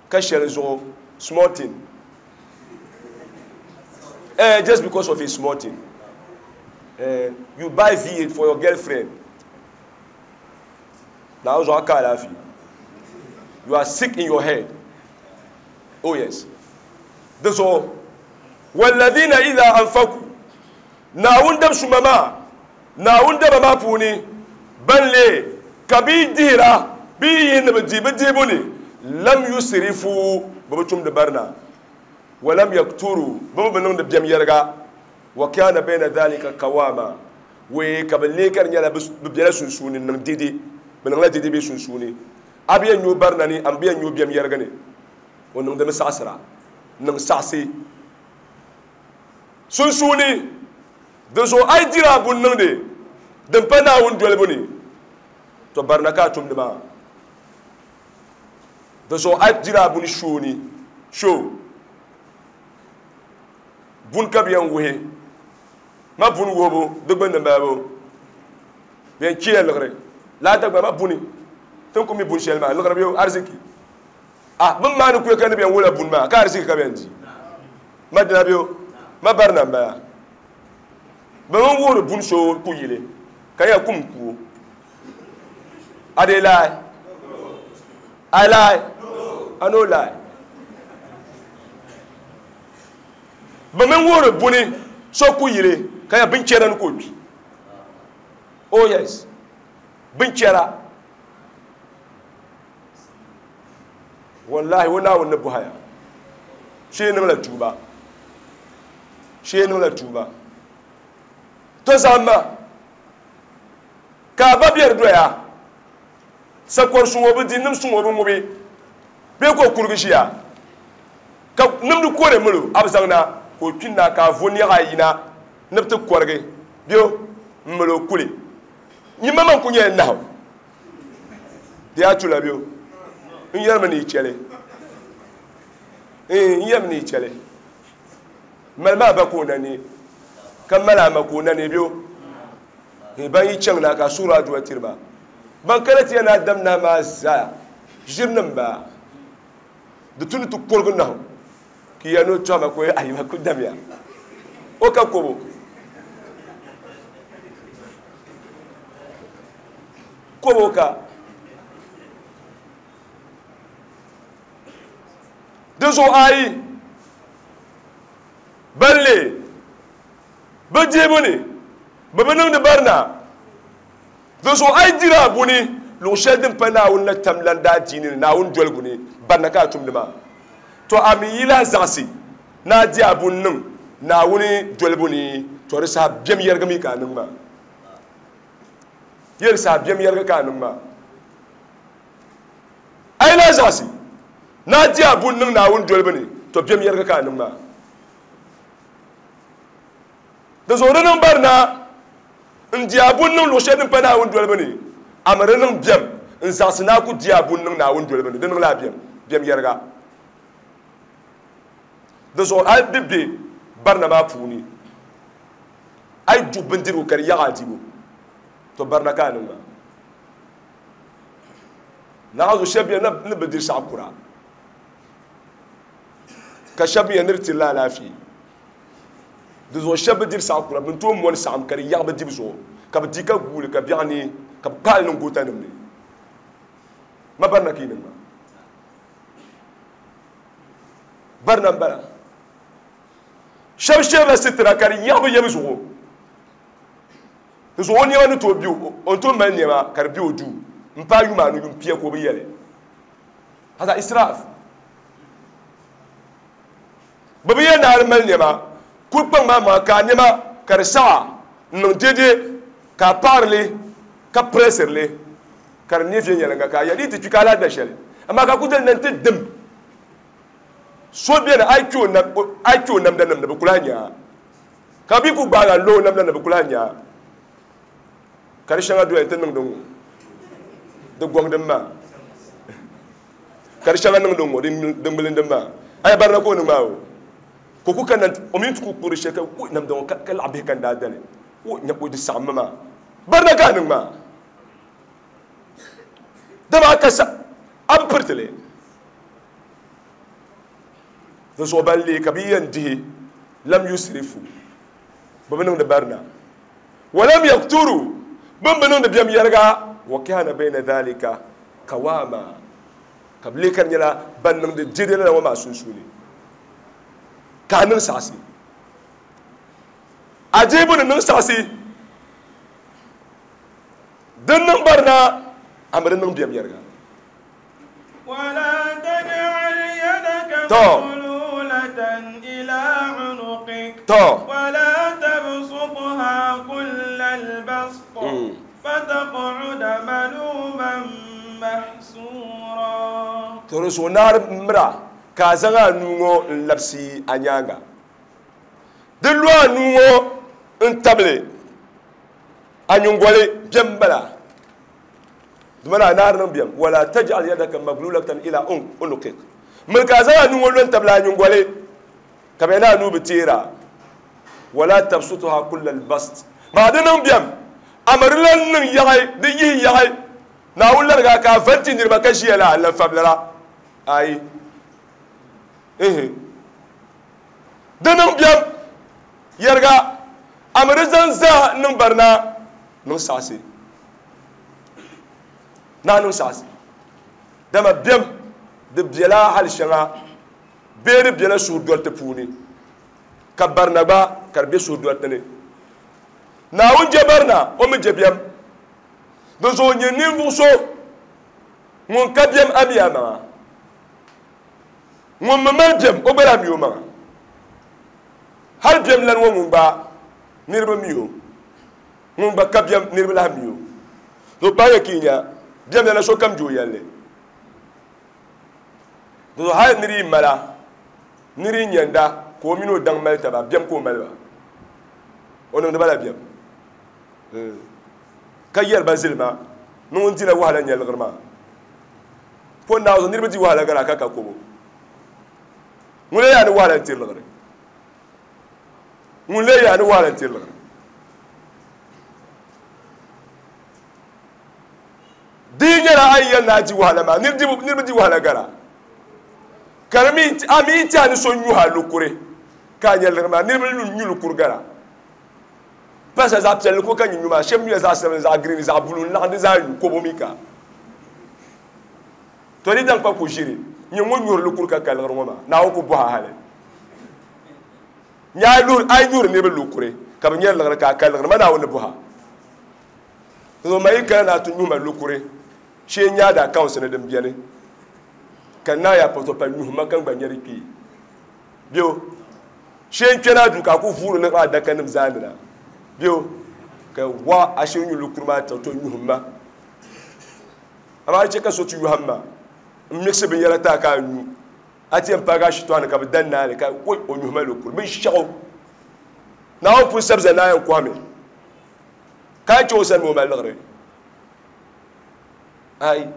ka shɛli zuɣu small thing. Just because of a small thing. You buy V8 for your girlfriend. Naawuni zuɣu a ka alaafee. You are sick in your head. Oh yes. Di zuɣu walladhina idha anfaku, Naawuni dab suma maa, Naawuni daba maa puuni ban leei ka bɛ yi dihira, bɛ yi yihi ni bɛ dihi bɛ dihibu ni, lam yusrifu, bɛ bi tumdi barina, wa lam yakturu, bɛ mi bi niŋdi biɛm yɛliga, wa kana bayna dhalika qawama, wee ka bɛ leei ka di nyɛla bɛ bela sunsuuni n-niŋ dede, bɛ niŋla dede bɛ sunsuuni. A bi yɛn nyo barina ni, a mi bi yɛn nyo biɛm yɛliga ni, o niŋdimi saɣisira, niŋ saɣisi sunsuuni. Di zuɣu a yi diri a buni niŋdi din pa Naawuni dolibu ni, tɔ barina ka a tumdi maa. Di zuɣu a yi diri a buni shoo ni, shoo buni ka bɛ yɛn wuhi ma buni wuhibu di gbunni m-bala bo. Bɛ yɛn cheela liɣiri lala Dagbaŋ maa buni. Ti ni ku mi buni shɛli maa liɣiri bɛ ariziki. A bɛ ni maani kuya ka ni bɛ yɛn wuhila buni maa ka ariziki ka bɛ yɛn di. Ma dina bɛ o, ma barina m-bala. Bɛ mi wuhiri buni so ku yili ka yɛn kum ku o. A dee lie? I lie? I no lie. Bɛ mi wuhiri buni so ku yili ka yɛn binchɛra ni ka o kpi. Oh yes, binchɛra. Wallahi, o Naawuni ni bɔhaya. Shee niŋla tuuba. Shee niŋla tuuba. To zaŋma ka a ba biɛri doya, sakɔri suŋ o bi di, nim suŋ o bi ŋubi, bee ka o kurigi ʒiya ka nimdi kore mil o, a bi zaŋ na ka o kpinna ka a vo niɛɣa ayi na ni bi ti kɔrigi bɛ o m-mil o kuli. Nyimma man ku nyɛla nahu, di yaa tula bɛ o n yɛrimi ni yi chɛli, n yɛrimi ni yi chɛli. Mali maa ba ka o na ne, ka mali a ma ka o na ne bɛ o. Ban yi chaŋ na ka a suhiri aduwa tiri ba. Ban kana ti yɛn ni a dam nahi maa zaa ʒirinim baa. Di tu ni ti kurigi nahu ka yɛli ni o tɔhima ka o yɛli ayi ma ku damya o ka kobo. Kobo ka. Di zuɣu ayi ban leei bɛ dihibu ni bɛ bi niŋdi barina. Di zuɣu a yi diri a buni luɣ shɛli din pa Naawuni la tam lan daadiini ni Naawuni doligu ni, barina ka a tumdi maa. Tɔ! A mi yi lahi zaɣisi ni a di a buni niŋ Naawuni dolibu ni, tɔ di saha biɛm yɛrigi mi ka a niŋ maa. Yɛ di saha biɛm yɛrigi ka a niŋ maa. A yi lahi zaɣisi ni a di a buni niŋ Naawuni dolibu ni, tɔ biɛm yɛrigi ka a niŋ maa. Di zuɣu di niŋ barina n-di a buni niŋ luɣ shɛli din pa Naawuni dolibu ni, a mi di niŋ biɛm n-zaɣisi ni a ku di a buni niŋ Naawuni dolibu ni, di niŋla a biɛm, biɛm yɛriga. Di zuɣu a yi bi be barina maa puuni, a yi duɣi bindirigu ka di yaɣi a dibu, tɔ barina ka a niŋ maa. Naɣizu shɛba beni ni bi diri saɣi kura, ka shɛba mi yɛn ni di tirila alaafee. Di zuɣu shɛba bi diri saɣi kura, bɛ ni tooi mɔni saɣim ka di yaɣi bɛ dibu zuɣu, ka bɛ di ka guui li ka biɛɣu neei, ka bɛ kpahi li niŋ gootanima ni. Ma barina ka yi niŋ maa? Barina m-bala. Shɛba shɛrila sitira ka di yaɣi bɛ yɛbu zuɣu. Di zuɣu o nɛma ni tooi be o, o ni tooi mali nɛma ka di be o duu m-paai yuma anu yum pia ka o bi yɛli. Hada israaf. Bɛ bi yɛli ni a di mali nɛma, kuli kpaŋ maa maŋa ka a nɛma ka di saɣa n-niŋ dɛdɛ ka a paɣiri li ka piresiri li ka di ne viɛnyɛliŋga ka a yɛli di yi ti kpi ka a lahi da shɛli amaa ka a ku dali na nti dim so beni a yi kpi o namdanim ni bɛ ku lahi nya a. Ka bɛ ku gbaag a n-lo o namda ni bɛ ku lahi nya a, ka di shɛŋa doya nti niŋdi ŋ-ŋɔ, di gɔŋdi m maa, ka di shɛŋa niŋdi ŋ-ŋɔ, di ŋmilindi m maa. Aya barina ka o niŋ maa o, ka o ku kanna nti, o mi nti ku kpuɣi di shɛli ka wuhi namda ŋɔ ka laɣ bihi ka n daa dali, o nya o di saɣimmi maa. Barina ka a niŋ maa, dama a ka sa, a bi piriti li. Di zuɣu ban leei ka bɛ yɛn dihi lam yusrifu, bɛ bi niŋdi barina, wa lam yakturu, bɛ mi bi niŋdi biɛm yɛriga, wa kana bayna dhalika qawama, ka bɛ leei ka di nyɛla ban niŋdi dɛdɛ lala ŋɔ maa sunsuuni, ka a niŋ saɣisi. A deebu ni niŋ saɣisi din niŋ barina, a mi di niŋ biɛm yɛriga. To. To. To di zuɣu naari mira ka a zaŋ a nuu ŋɔ n-labisi a nyaaŋa. Di lu a nuu ŋɔ n-tabili a nyingoli bɛ m-bala. Dama a naari niŋ biɛm, wala taj'al yadaka maglulatan ila unuqik, miri ka a zaŋ a nuu ŋɔ lo n-tabili a nyingoli ka bɛ ni a nuu bi teer a, wala tabsutuha kullal bast, maa di niŋ biɛm, a mi di lan niŋ yaɣi, di yihi yaɣi, Naawuni larigi a ka a va n-ti niriba ka ʒiya la, n lan fabilira, ayi, ihi, di niŋ biɛm, yɛriga, a mi di zaŋ zaa niŋ barina niŋ saɣisi. Naa niŋ saɣisi, dama bɛm di bela hal shɛŋa bee di bela suhudɔriti puuni, ka barina gba ka di be suhudɔriti ni. Naawuni je barina, o mi je bɛm. Dinzuɣu nyin ninvuɣ so ŋun ka bɛm amii amaŋa. Ŋun mi mali biɛm o gba lahi mi o maŋa. Hali biɛm lani ŋɔ ŋun gba niriba mi o, ŋun gba ka biɛm niriba lahi mi o. To paai ya ka yi nya biɛm lana sokam je o yɛlli. Dinzuɣu hali niri yi mala, niri yi nyɛnda ka o mini o daŋ mali taba, biɛm ka o mali ba. O niŋdi ba la biɛm ka yɛri ba zilima ni ŋun dila wahala nya liɣiri maa. Po Naawuni zuɣu niriba di wahala gari a ka ka kobo. Ŋun lee yaa ni wahala n-tiri liɣiri? Ŋun lee yaa ni wahala n-tiri liɣiri? Di yi nyɛla a yi yɛli ni a di wahala maa, niriba di wahala gari a. Ka di mi a mi yi ti a ni so nyuhi a lukuri ka a nya liɣiri maa, niriba nyu lukuri gari a. Pasa zaɣ piɛlli ko ka nyi nyu maa, shɛba nyula zaɣ sabinli, zaɣ girin, zaɣ buluu n-laɣim di zaa nyu kobo mi ka. To di daŋ kpa ku ʒiri nyɛ ŋun nyuri lukuri ka ka liɣiri ŋɔ maa, Naawuni ku bɔhi a hali. Nyɛ a yi nyuri niriba lukuri ka bɛ nyari liɣiri ka a ka liɣiri ma Naawuni ni bɔhi a. Dinzuɣu ma yi kana ni a ti nyuhi ma lukuri shee n-nyɛ a da accounts ni din beni ka n naan yaa pɔtɔpa nyuhi ma ka n gba nyari kpee. Bɛ shee n kpɛna duu ka a ku vuuri liɣiri adakanim zaandi na. Bɛ ka wa a shee nyu lukuri maa ti to nyuhi ma. Amaa di chɛ ka so ti yɔhim ma m-miɣisi binyɛra ti a ka a nyu. A ti yɛn paagi a shitɔɣu ni ka bɛ dan naai li ka woi o nyuhi ma lukuri binshɛɣu. Naawuni pun sabi zali ni a yɛn kɔhimi ka a chɛ o sani mi o mali liɣiri. Ai,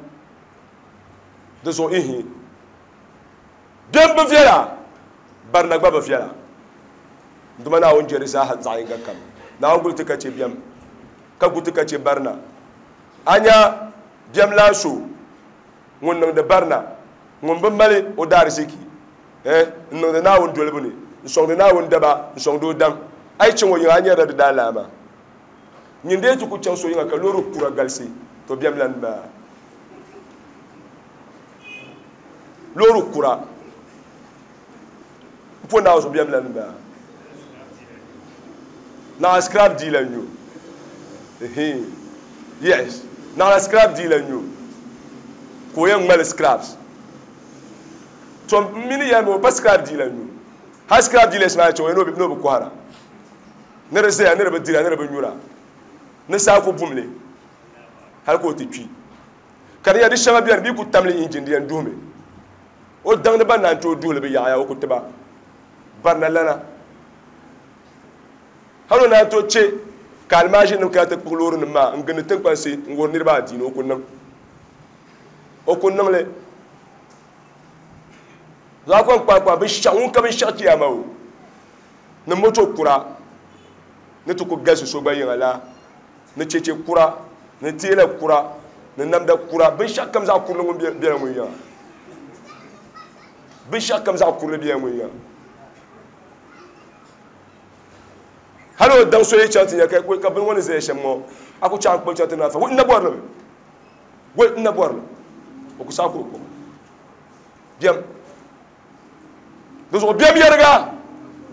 di zuɣu ihi bɛn bi viɛla, barina gba bi viɛla. Dama Naawuni je di zaaha zaɣ yinga kam. Naawuni guli ti ka chɛ biɛm, ka gu ti ka chɛ barina. A nya biɛmlaan so ŋun niŋdi barina, ŋun bi mali o daariziki n-niŋdi Naawuni dolibu ni, n-sɔŋdi Naawuni daba, n-sɔŋdi o daŋ. A yi chaŋ o yiŋa, a nyarila di daalaama. Nyin dee ti ku chaŋ so yiŋa ka loori kura galisi, to biɛmlan maa. Loori kura m-po Naawuni zuɣu biɛmlan maa. Naɣila scrap dealer n-nyɛ o. Yes, naɣila scrap dealer n-nyɛ o ka o yɛn ŋmali scraps. To m mi ni yɛli mi o pa scrap dealer n-nyɛ o. Hali scrap dealers maa chɛ o ni o bi kɔhira. Ni di zaya, ni di bi dira, ni di bi nyura, ni saa ku bum li hali ka o ti kpi. Ka di nyɛla di shɛŋa beni bɛ yi ku tam li injin di yɛn duhimi. O daŋ ni ban naan tooi duhi li bi yaɣiya o ku ti ba barina lana. Hali o naan tooi che ka alimaaʒirinim kana ti kpuɣi loorinima maa n-gindi tiŋkpansi n-wuhiri niriba adiini o ku niŋ. O ku niŋ li. Zaɣ kɔŋ kpaakpaa binshɛɣu ŋun ka binshɛɣu chiyaama o ni moto kura ni ti ku galisi so gba yiŋa la ni cheche kura ni teela kura ni namda kura binshɛɣu kam zaɣ kurili ŋun bela ŋun yiŋa binshɛɣu kam zaɣ kurili bela ŋun yiŋa hali o daŋ so yi chaŋ ti nya ka bini ŋɔ ni zaya shɛm ŋɔ a ku chaŋ kpuɣi chaŋ ti naan fa n na bɔri li mi wai n na bɔri li o ku saɣi ka o kpuɣi biɛm Di zuɣu biɛm yɛriga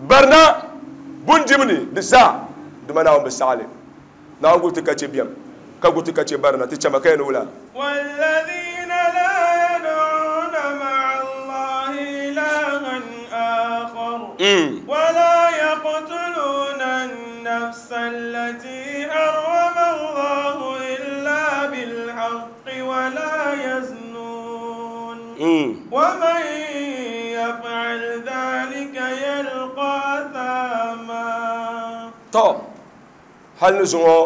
barina bundim ni di zaa dama Naawuni bi saɣi li. Naawuni guli ti ka chɛ biɛm, ka gu ti ka chɛ barina. Ti chama ka yɛn ni wula?
والذين لا يدعون مع الله إلها آخر ولا يقتلون النفس التي حرم الله إلا بالحق ولا يزنون ومن يفعل ذلك يلقى أثاما.
Tɔ! Hal ni zuŋɔ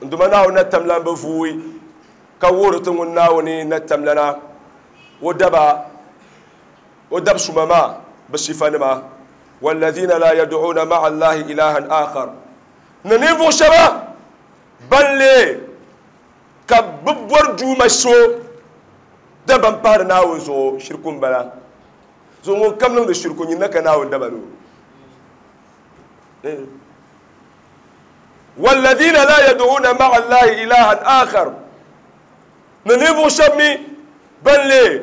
n Duuma Naawuni na tamlan bi vuui, ka wuhiri ti ŋun Naawuni na tamlana o daba o dab suma maa bɛ sifanima, Walladina laa yaduuna ma'a Allahi ilahan aakhar, ni ninvuɣ shɛba ban leei ka bɛ bɔri duuma so dabam pahiri Naawuni zuɣu, shiriku m-bala. Zuɣu ŋun kam niŋdi shiriku, nyin na ka Naawuni daba ni o. Walladina laa yaduuna ma'a Allahi ilahan aakhar, ni ninvuɣ shɛb mi ban leei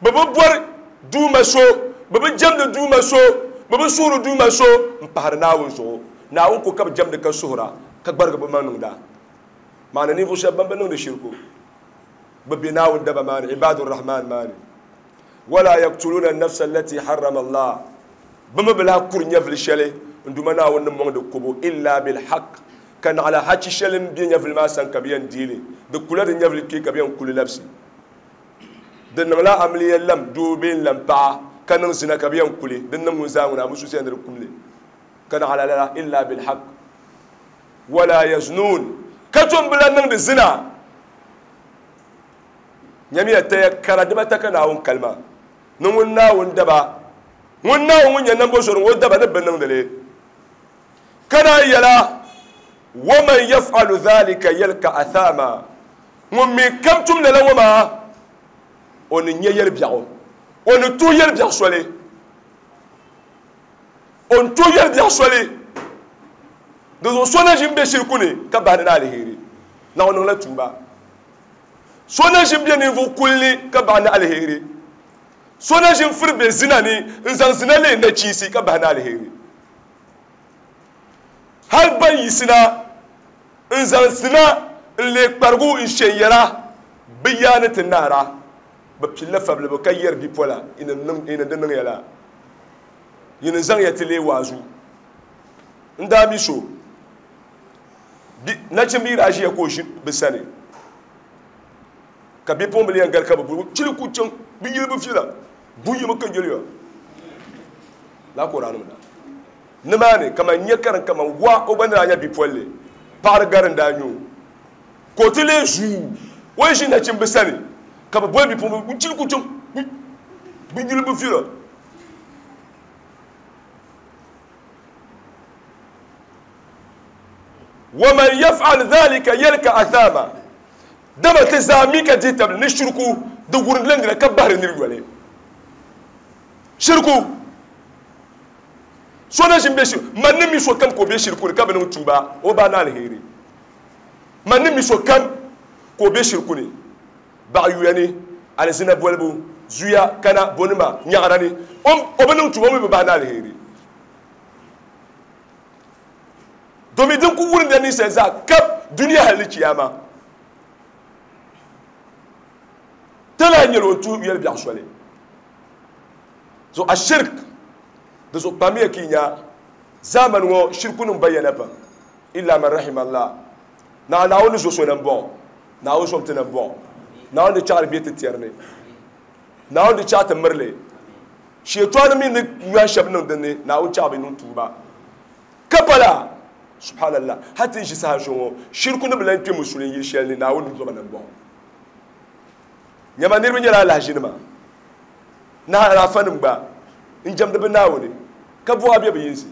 bɛ bi bɔri duuma so, bɛ bi jɛmdi duuma so, bɛ bi suhiri duuma so m-pahiri Naawuni zuɣu. Naawuni ko ka bɛ jɛmdi ka suhira, ka gbarigi bɛ maŋ niŋda. Maana ninvuɣ shɛb ban bi niŋdi shiriku, bɛ be Naawuni daba maa ni, Ibaadu Rahman maa ni. Wala yaktuluuna an-nafsa allati harrama Allah, bɛ mi bi lahi kuri nyɛvili shɛli n Duuma Naawuni ni mɔŋ di kubu, illa bil-haqq, ka naɣila hachi shɛli m-be nyɛvili maa sani ka bɛ yɛn deei li, di kula di nyɛvili kpee ka bɛ yɛn ku li labisi. Di niŋla amiliya lam doo bee n-lam paɣa ka niŋ zina ka bɛ yɛn ku li, di ni niŋ ŋun zaa ŋuna a musuusiya ni di kum li, ka naɣila lala, illa bil-haqq. Wala yaznuun, ka tom bi lahi niŋdi zina. Nyamiya taya kara dibata ka Naawuni kalima ni ŋun Naawuni daba, ŋun Naawuni ŋun nyɛ nambɔzɔri ŋɔ daba ni bi niŋdi li. Ka naan yɛla, Waman yaf'alu dhalika yalka athama, ŋun mi kam tum lala ŋɔ maa, o ni nya yɛlibiɛɣu, o ni tuhi yɛlibiɛɣu soli, o ni tuhi yɛlibiɛɣu soli. Di zuɣu so na ʒi m-be shiriku ni ka bahi ni ni aliheri, naɣ o niŋla tuuba. So na ʒi m-be ninvuɣ kul ni ka bahi ni aliheri. So na ʒi n-firi be zina ni n-zaŋ zina leei nachiinsi ka bahi ni aliheri. Hal ban yiɣisina n-zaŋ zina n-leei kparigu n-she n-yɛra, bɛ yaa ni ti naara, bɛ pilila fabilibu ka yɛri bipola, Yinim di niŋ ya la, yinim zaŋya ti leei waazu. N daa mi so. Nachimbihi daa ʒiya ka o ʒi bɛ sani, ka bipuɣimbila yɛn gari ka bɛ boli chili ku chaŋ bɛ yili bɛ viɛla bunyimi ka yɛliya laa ka o daa niŋda nimaani kaman nya karim kaman wa o gba ni daa nya bipolli paɣiri gari n daa nya o ka o ti lee zuu o yi ʒi nachimbi sani ka bɛ boli bipuɣimbila chili ku chaŋ bɛ yili bɛ viɛla. Waman yaf'al dhalika yalka athama, dama ti zaa mi ka dihi tabili ni shiriku di wurindila nira ka bahiri nir yoli. Shiriku, so na ʒin be shiriku, man ni mi sokam ka o be shiriku ni ka bi niŋ tuuba, o ba ni aliheri. Man ni mi sokam ka o be shiriku ni, baɣa yuya ni, alizina bolibu, zuya, kana, bonima, nyaɣira ni, o bi niŋ tuuba, o mi bi bahi ni aliheri. Domin din ku wurimya ninsal zaa kab dunia hal ni chiyaama. Ti lahi nyɛla o ni tuhi yɛli biɛɣu soli. So ashirk, di zuɣu kpamiya ka yi nya zaamani ŋɔ shirikunim bayyana pam, illa man rahima Allah. Naa Naawuni ni zo so nambɔɣu, Naawuni zom ti nambɔɣu. Naawuni di chaɣiri bɛ ti tɛri ni. Naawuni di chaɣi ti miri li. Shɛtɔni mi ni yɔhi shɛba niŋ din ni, Naawuni chaɣi bɛ niŋ tuuba. Ka pala, subhanallah, hali ti ni ʒi saha shɛli ŋɔ, shiriku ni bi lan kpe musulin yili shɛli ni, Naawuni ni zɔba nambɔɣu. Nyama niriba nyɛla alahiʒinima, ni alaafanim gba n-jɛmdi bɛ Naawuni, ka buɣa be bɛ yinsi.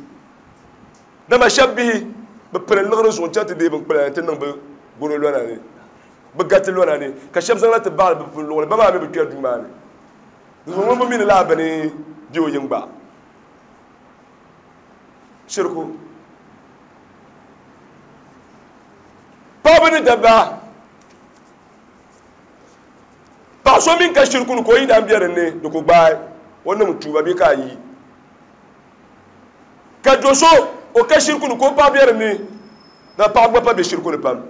Dama shɛba bihi bi piri liɣiri zuɣu n-chaŋ ti deei binkpula nti niŋ bɛ goro lɔna ni, bɛ gati lɔna ni, ka shɛba zaŋ na ti baɣili bɛ pun luɣili, ba maa mi bi kpɛri duu maa ni. Di zuɣu ŋun bi mi ni laa bini be o yiŋ gba. Shiriku. Paɣaba ni dabba, paɣa so mini ka shiriku ni ka o yidana be din ni, di ku gbaai o niŋ tuuba bee ka a yi. Ka do so o ka shiriku ni ka o paɣa be din ni, na paɣaba gba pa be shiriku ni pam.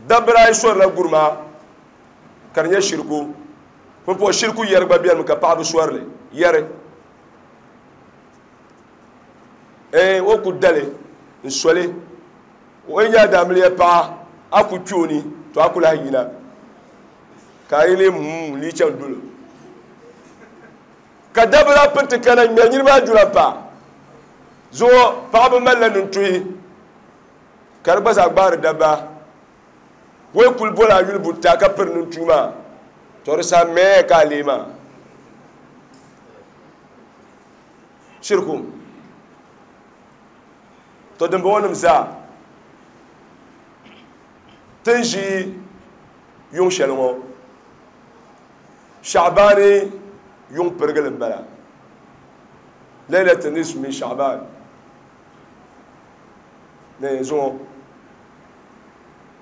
Dabba daa yi sɔrila gurima ka di nyɛ shiriku. Pumpɔŋɔ shiriku yɛri gba benimi ka paɣaba sɔri li yɛri. Ee, o ku dali n-soli o yi nyɛ a daamiliya paɣa, a ku kpe o ni, to a ku lahi yina ka a yi lee muum n-lee chaŋ dolo. Ka dabba daa pini ti kana ŋ-ŋmɛri niriba aduna m-pa zuɣu. Paɣaba malila nintuhi ka di gba zaa gbaari dabba. O yi kuli boli a yuli buta ka piri nintuhi maa, to di saha mɛɛ ka a lee maa. Shiriku. To dimbɔŋɔnim zaa ti ni ʒi yuŋ shɛli ŋɔ, Shaɣibaani yuŋ pirigili m-bala. Lailatu nisfu min Shaɣibaan ni zuŋɔ.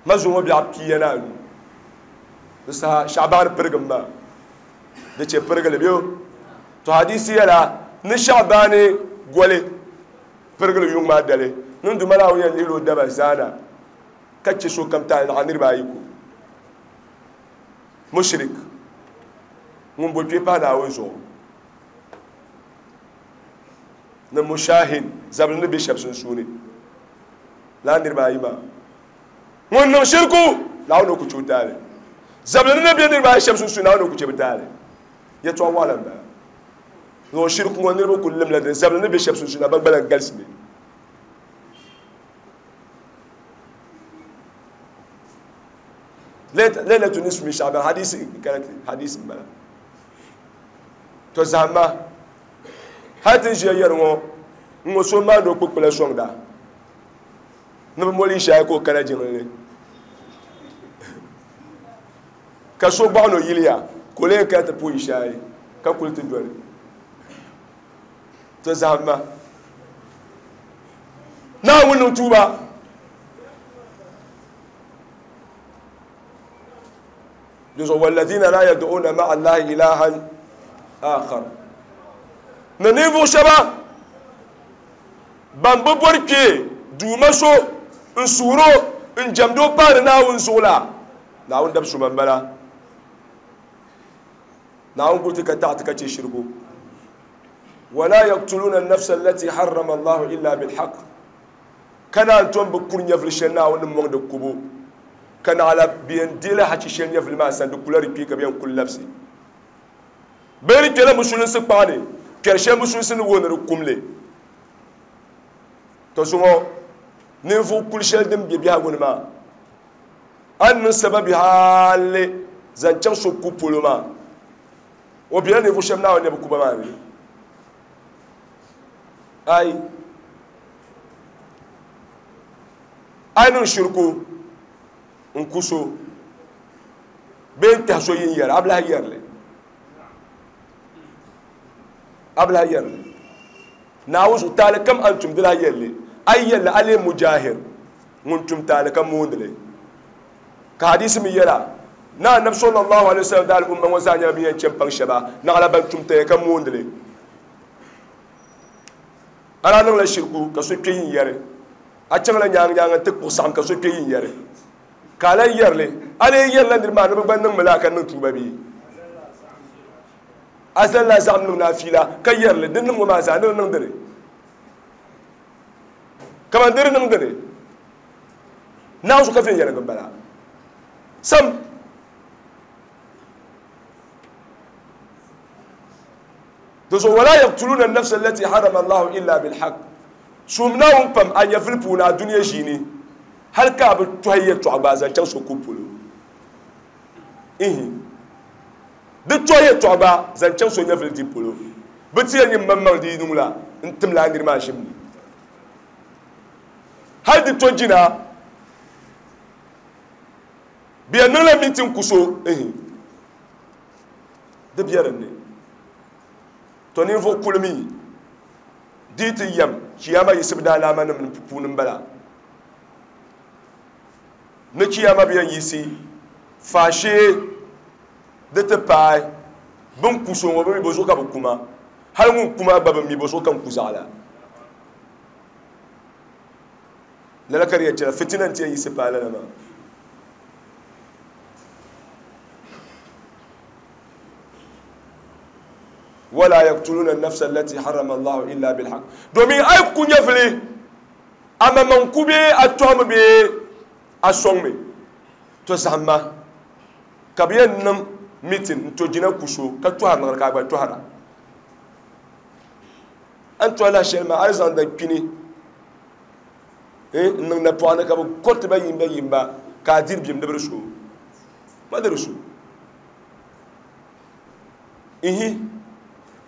Ma zuŋɔ biɛɣu pia ni anu di saha Shaɣibaani pirigim maa di chɛ pirigili bɛ to hadisi yɛla ni Shaɣibaani goli pirigili yuŋ maa dali niŋ Duuma Naawuni yɛn lihila o daba zaana ka chɛ sokam taali naɣ niriba ayi ko. Mushrik. Ŋun bo kpee pahi Naawuni zuɣu ni mushahin zabili ni be shɛba sunsuuni lala niriba ayi maa. Ŋun niŋ shirku, Naawuni o ku che o taali. Zabili ni ni be niriba ayi shɛba sunsuuni, Naawuni o ku che bɛ taali. Yɛtɔɣ waɣila m-bala. Zuɣu shirku ŋɔ niriba kuli limla dini, zabili ni be shɛba sunsuuni, amaa gba lahi galisimi. Laylatu nisfu min Sha'ban hadisi karati hadisi m-bala. To zahimma hali ti ni ʒiya yɛri ŋɔ n-ŋɔ so maandi o kpukpula sɔŋda ni bi moli Ishaya ka o kana jiŋli ni ka so gbaɣi ni o yiliya ka o lee kana ti puhi Ishaya ka kuli ti doli. To zahimma Naawuni niŋ tuuba. Dinzuɣu walladina la yad'una ma'a Allahi ilahan akhar ni ninvuɣu shɛba ban bi bori kpee duuma so n suhuri o n jɛmdi o paari Naawuni zuɣu la, Naawuni dab suma m-bala. Naawuni guli ti ka taɣi ti ka chɛ shirigu. Wala yaqtuluna an-nafsa allati harrama Allahu illa bil-haqq. Ka naan tom bi kuri nyɛvili shɛli Naawuni ni mɔŋ di kubu, ka naɣila bɛ yɛn deei la hachi shɛli nyɛvili maa sani, di kula di kpee ka bɛ yɛn kuli labisi. Bɛ di kpɛla musulinsi kpaɣa ni, kpɛri shɛli musulinsi ni wuhi ni di kum li. Tɔ zuŋɔ ninvuɣ kuli shɛli din be biɛhigu ni maa, a ni niŋ sababi hali zaŋ chaŋ so ku polo maa, o bela ninvuɣ shɛba Naawuni ni bi ku ba maa ni. Ai, a yi niŋ shiriku n-ku so bee n-kpɛhi so yin yɛri, a bi lahi yɛri li. A bi lahi yɛri li. Naawuni zuɣu taali kam a ni tum di lahi yɛli li. A yi yɛli li, a leei mujahir, ŋun tum taali ka moondi li. Ka hadiisi mi yɛla, ni Annabi sallallahu alaihi wasallam daali umma ŋɔ zaa nyɛla bɛ ni yɛn chɛ m-paŋ shɛba, naɣila ban tum taya ka moondi li. A daa niŋla shiriku ka so kpe yin yɛri. A chaŋla nyaaŋa nyaaŋa nti kpuɣi saɣim ka so kpe yin yɛri. Ka a lan yɛri li. A lee yɛrila niriba maa ni bɛ gba niŋmi laa ka niŋ tuuba bee? A zalila a zaɣim niŋ ni a fiila ka yɛri li. Di niŋ ŋɔ maa zaa ni di niŋ dini? Kaman di di niŋ dini? Naawuni zuɣu ka viɛnyɛliŋga m-bala. Sam. Di zuɣu wala yaqtuluna an-nafsa allati harrama Allahu illa bil-haqq. Suhim Naawuni pam a nyɛvili puuni a dunia ʒiini hali ka a bi tɔhi yɛltɔɣa gba zaŋ chaŋ so kubu polo. Ihi. Di tɔhi yɛltɔɣa gba zaŋ chaŋ so nyɛvili dibu polo. Bɛ ti yɛli nyin maŋmaŋ di yi niŋ la n-tim la a niri maa ʒim ni. Hali di to jina bɛ yɛn niŋla mintin ku so. Ihi. Di be din ni. To ninvuɣ kuli mi di yi ti yɛm Chiyaama yiɣisibu daalaamanim ni puuni m-bala. Ni Chiyaama bi yɛn yiɣisi faashee di ti paai bɛ ni ku so ŋɔ, bɛ mi bɔzuɣu ka bɛ ku ma? Hal ŋun ku maa gba bi mi bɔzuɣu ka n ku zaɣ la. Lala ka di yɛn chana, fitina nti yɛn yiɣisi paai lala maa. Wala yaktuluna nafsa allati harama Allahu illa bilhaq. Domin a yi ku nyɛvili, a maŋmaŋ ku bee a tɔhimi bee a sɔŋmi, to zahimma ka bɛ yɛn niŋ mitin n-to jina ku so ka tɔhiri niŋdi ka a gba tɔhira. A ni tɔhi lahi shɛli maa, a ni zaŋ da kpini n-niŋ napɔɣu ni ka bɛ kɔriti ba yimba yimba ka a diri bim di bi di so. Ma di di so. Ihi,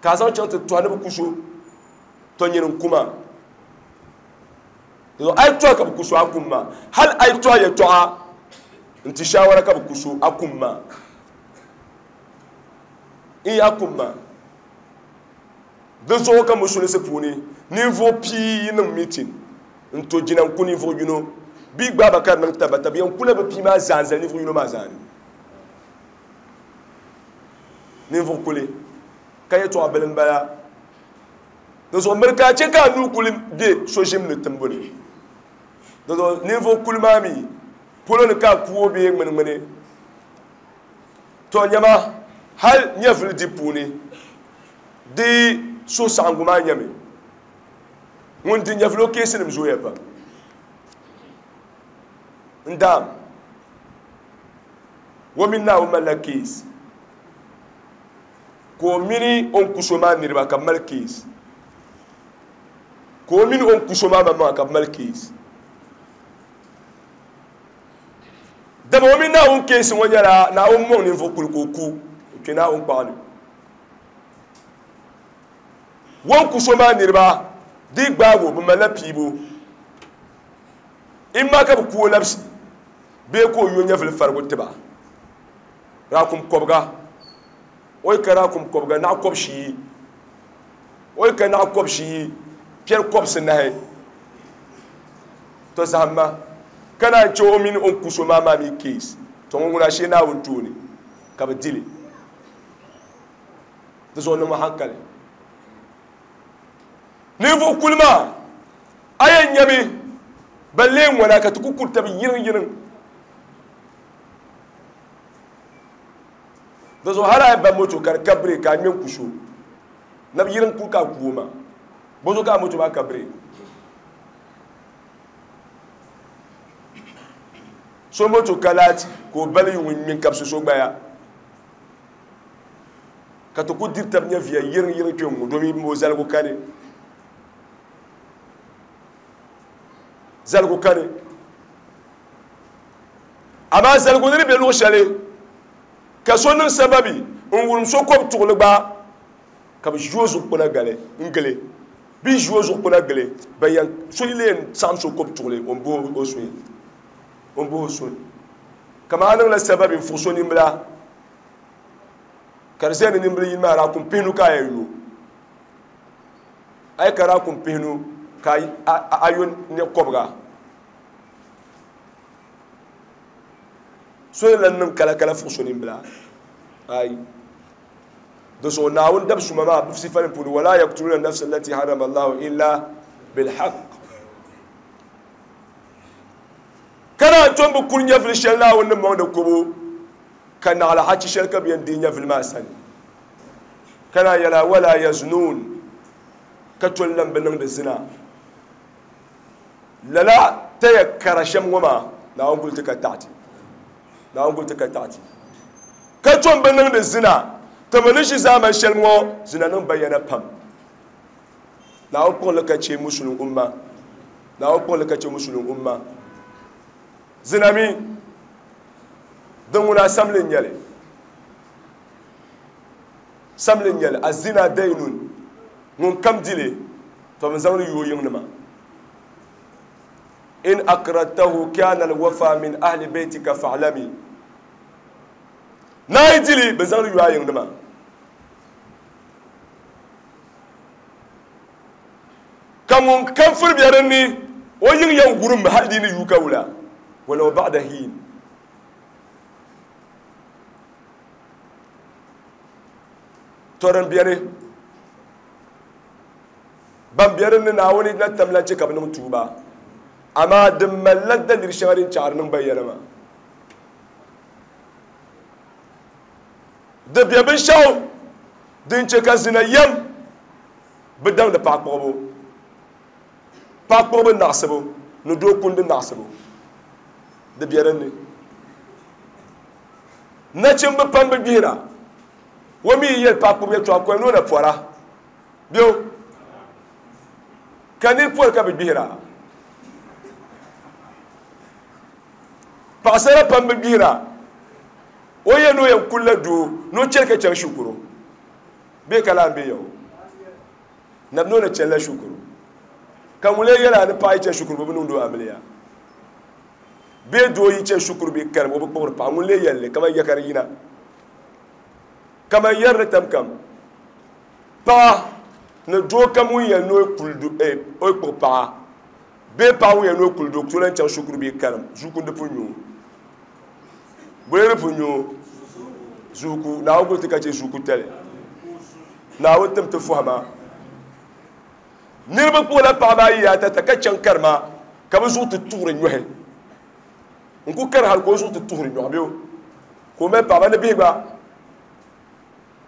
ka a zaŋ chaŋ ti tɔhi ni bɛ ku so, tɔ nyini n-ku ma. Dinzuɣu a yi tɔhi ka bɛ ku so, a kum ma. Hal a yi tɔhi yɛtɔɣa n-ti shaawara ka bɛ ku so, a kum ma. Ihi, a kum ma. Di zuɣu ka musulinsi puuni ninvuɣ pia yi niŋ mitin n-to jina n-ku ninvuɣ yino bɛ yi gbaai ba ka di niŋ tabata, bɛ yɛn kula bɛ pia maa zaa n-zali ninvuɣ yino maa zaani. Ninvuɣ kuli ka yɛtɔɣ bili m-bala. Di zuɣu miri ka a chɛ ka a nuu kuli be so ʒim ni timbu ni. Di zuɣu ninvuɣ kuli maa mi polo ni ka a ku o bee ŋminiŋmini. Tɔ nyama! Hali nyɛvili di puuni di suhusaɣiŋgu maa nyɛmi ŋun di nyɛvili o keesinim zooya pam. N daam, o mini Naawuni malila keesi, ka o mini o ni ku so maa niriba ka bɛ mali keesi, ka o mini o ni ku so maa maŋmaŋa ka bɛ mali keesi. Dama o mini Naawuni keesi ŋɔ nyɛla Naawuni mɔŋ ninvuɣ kuli ka o ku o kpe Naawuni kpaɣa ni. O ni ku so maa niriba di gbaag o, bɛ malila piibu. Imma ka bɛ ku o labisi bee ka o yo nyɛvili farigu ti ba. Raakum kɔbiga, o yi ka raakum kɔbiga naɣ kɔbishiyi, o yi ka naɣ kɔbishiyi piɛri kɔbisinahi, tɔ zahimma ka naan chɛ o mini o ni ku so maa maa mi keesi, tɔ ŋɔ ŋuna ashee Naawuni tooni ka bɛ di li. Di zuɣu niŋmi hankali. Ninvuɣ kuli maa, a yɛn nyami ban lee ŋɔna ka ti ku kuri tab yiriŋ yiriŋ. Di zuɣu hali a yi ba moto ka di ka birek ka a ŋme n-ku so, nabi yiriŋ kuli ka a ku o maa. Bozuɣu ka a moto maa ka birek? So moto ka laati ka o bali yuŋ n-ŋme n-kabisi so gbaya ka ti ku diri tab nyɛviya yiriŋ yiriŋ kpe ŋ-ŋɔ domin o zaligu kani. Zaligu kani. Amaa zaligu ni di be luɣ shɛli ka so niŋ sababi n-wurim so kɔb tuɣili gba, ka bɛ ʒi o zuɣukpuna gali n-gili. Bɛ yi ʒi o zuɣukpuna gili, bɛn yɛn so yi lee saɣim so kɔb tuɣili, o ni bohi o suhi. O ni bohi o suhi. Kaman a niŋla sababi n-fuɣi so nimbila, ka di ʒiya ni nimbili yini maa daa kum pihinu ka a yɛn yo. A yi ka daa kum pihinu ka a yo nɛ kɔbiga. So ni lan niŋ kalakala fuɣi so nimbila. Ayi. Di zuɣu Naawuni dab suma maa bɛ sifanim puuni, Wala yaktuluna nafsa allati harrama Allahu illa bilhaq. Ka naan tom bi kuri nyɛvili shɛli Naawuni ni mɔŋdi kubu, ka naɣila hachi shɛli ka bɛ yɛn deei nyɛvili maa sani. Ka naan yɛli a, Wala yaznuun, ka toli lan bi niŋdi zina. Lala taya kara shɛm ŋɔ maa, Naawuni guli ti ka taɣi ti. Naawuni guli ti ka taɣi ti. Ka tom bi niŋdi zina, ti mi ni ʒi zaamani shɛli ŋɔ zina niŋ bayana pam. Naawuni kpuɣi li ka chɛ Musulin umma. Naawuni kpuɣi li ka chɛ Musulin umma. Zina mi, din ŋuna samli n-nyɛ li. Samli n-nyɛ li. Azina dainun, ŋun kam di li, tɔ bɛ zaŋ li yo o yiŋnima. In akradtahu kana alwafa min ahli baytika fa'lami. Naa yi di li, bɛ zaŋ li yo a yiŋnima. Ka ŋun kam firi be din ni, o yiŋ yɛn wurimmi hal di ni yuui ka wula, walau ba'da hiin. Tɔ din beni, ban be din ni Naawuni na tam lan chɛ ka bɛ niŋ tuuba, amaa di malila daliri shɛŋa din chaɣiri niŋ bayana maa. Di be binshɛɣu din chɛ ka zina yɛm bi daŋdi paɣa kpuɣibu, paɣa kpuɣibu naɣisibu ni doo kundi naɣisibu. Di be din ni. Nachimba pam bi gbihira. O mi yi yɛli paɣa kpuɣibu yɛltɔɣa koli ni o na pɔra. Bɛ o ka niri pɔri ka bi gbihira. Paɣasara pam bi gbihira. O yɛli ni o yɛn kulila doo ni o chɛli ka chaŋ shikuru bee ka lahi be ya o nabi ni o na chɛlila shikuru ka ŋun lee yɛli a ni paɣa yi chɛ shikuru bɛ bi niŋdi o amiliya bee doo yi chɛ shikuru bee karim o bi kpuɣiri paɣa ŋun lee yɛli li kaman ya ka di yina kaman yɛri ni tam kam paɣa ni doo kam ŋun yɛli ni o kuli o kpuɣi paɣa bee paɣa ŋun yɛli ni o kuli doo ku tooi lahi chaŋ shikuru bee karim zuukundi pun nyo o Bɛ ni pun nyo zuuku, Naawuni kuli ti ka chɛ zuuku tali. Naawuni tim ti fɔhima. Niriba kpuɣila paɣaba ayi atata ka chaŋ karima ka bɛ zuɣu ti tuɣiri nyɔhi. N ku kari hali ka o zuɣu ti tuɣiri nyɔhi bɛ o ka o mali paɣaba ni bihi gba.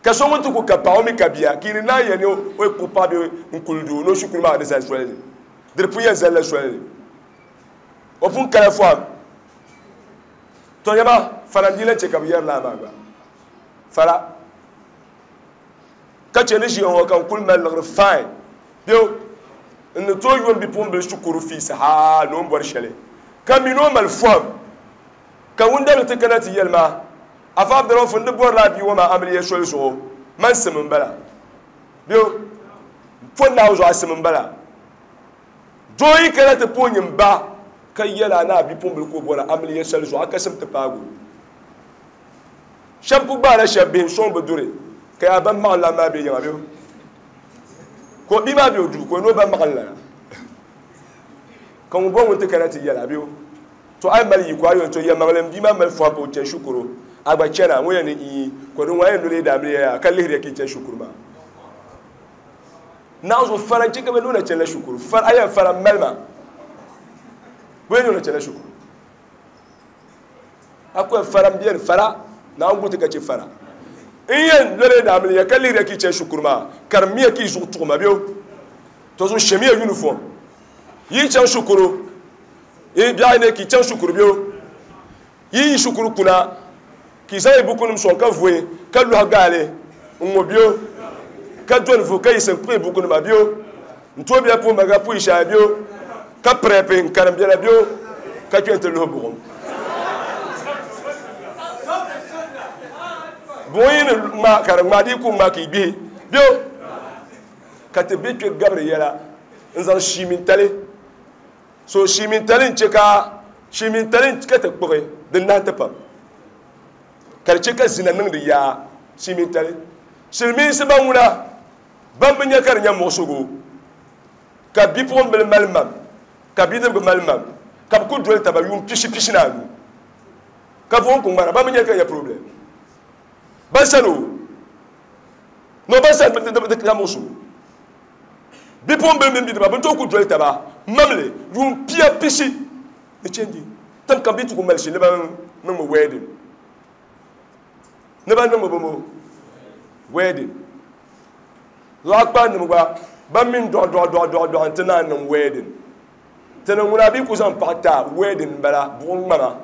Ka so ŋun ti ku ka paɣa o mi ka bia, ka yi ni naan yɛli ni o yi kpuɣi paɣa bee n-kuli doo ni o shikuru maa ni zali soli ni, di di pun yɛn zalila soli ni. O pun kala fɔhim. Tɔ yɛma, fara n-dii lahi chɛ ka bɛ yɛri lala maa gba. Fara. Ka chɛ ni ʒiya ŋɔ ka n kuli mali liɣiri fine. Bɛ n ni tooi yo m bipuɣimbila shikuru fees hal ni o ni bɔri shɛli, ka mi ni o mali fɔhim. Ka ŋun dabili ti kana ti yɛli ma, Afa Abdurauf, n di bɔrila a bia ŋɔ maa amiliya soli zuɣu, man sim m-bala. Bɛ po Naawuni zuɣu a sim m-bala. Doo yi kana ti pooi nyin ba ka yɛl a ni a bipuɣimbila ka o bɔri amiliya soli zuɣu, a ka sim ti paagi o. Shɛba ku gbaala shɛba bihi n-sɔŋ bɛ duri, ka yaa ba maɣinlan maa be yiŋa bɛ ka o bia maa be o duu ka o ni o ba maɣinlana. Ka ŋun bɔri ŋun ti kana ti yɛl a bɛ o. To a yi mali yiko a yɔn to yɛlimaŋli m bia maa mali fɔhi ka o chani shikuru, a gba chana, ŋun yɛn ni ii, ka di ŋun a yɛn doli yi daamiliya yaa ka lihiriya ka yi chani shikuru maa. Naɣ zuɣu fara n-chɛ ka bɛ niŋ na chanila shikuru. Fara, a yɛn fara m-mali ma. Bɛ yɛn niŋ na chanila shikuru. A ku yɛn fara m-beni fara, Naawuni gu ti ka chɛ fara. N yɛn doli yi daamiliya ka lihiriya ka yi chani shikuru maa, karimmiya ka yi zuɣu tuɣi ma bɛ o. To zuɣu shɛmiya uniform. Yi chaŋ shikuru, yi biɛɣu ne ka yi chaŋ shikuru bɛ o. Yi yi shikuru kuna ka yi zaŋ yi bukunim sɔŋ ka vooi ka lɔhi gaali n-ŋɔ bɛ o, ka doli vuhi ka yiɣisi n-kpuɣi bukunima bɛ o, n-tooi biɛla puhi maga puhi shɛhi bɛ o, ka pirɛpi n-karim biɛla bɛ o, ka kpe nti luhi buɣim. Buɣim yi ni ŋma ka di ŋma, di yi ku ŋma ka yi gbihi bɛ o. Ka ti be kpe gabiri yɛla n-zaŋ shiimintali. So shiimintali n-chɛ ka shiimintali ka ti kpuɣi di nahi ti pam, ka di chɛ ka zina niŋdi yaa shiimintali. Silimiinsi ban ŋuna ban bi nya ka di nya muɣisigu, ka bipuɣimbila mali mam, ka bidibigi mali mam, ka bɛ ku doli taba yuun pishi pishi ni anu, ka vuhim ku ŋmara, ban bi nya ka di nya problem. Ban sani o. No ban sani di ka muɣisigu. Bipuɣimbila mini bidiba bɛ ni tooi ku doli taba mamli yuun pia pishi ni chɛndi tiŋ kam bɛ ti ku mali shili ni ban niŋmi wedding ni ban niŋmi bɔmɔ wedding lɔɣu kpaanima gba ban mi dɔɣi dɔɣi dɔɣi dɔɣi dɔɣi nti naan niŋ wedding ti ni ŋuna bɛ ku zaŋ paɣa ti a wedding m-bala buɣim ŋmama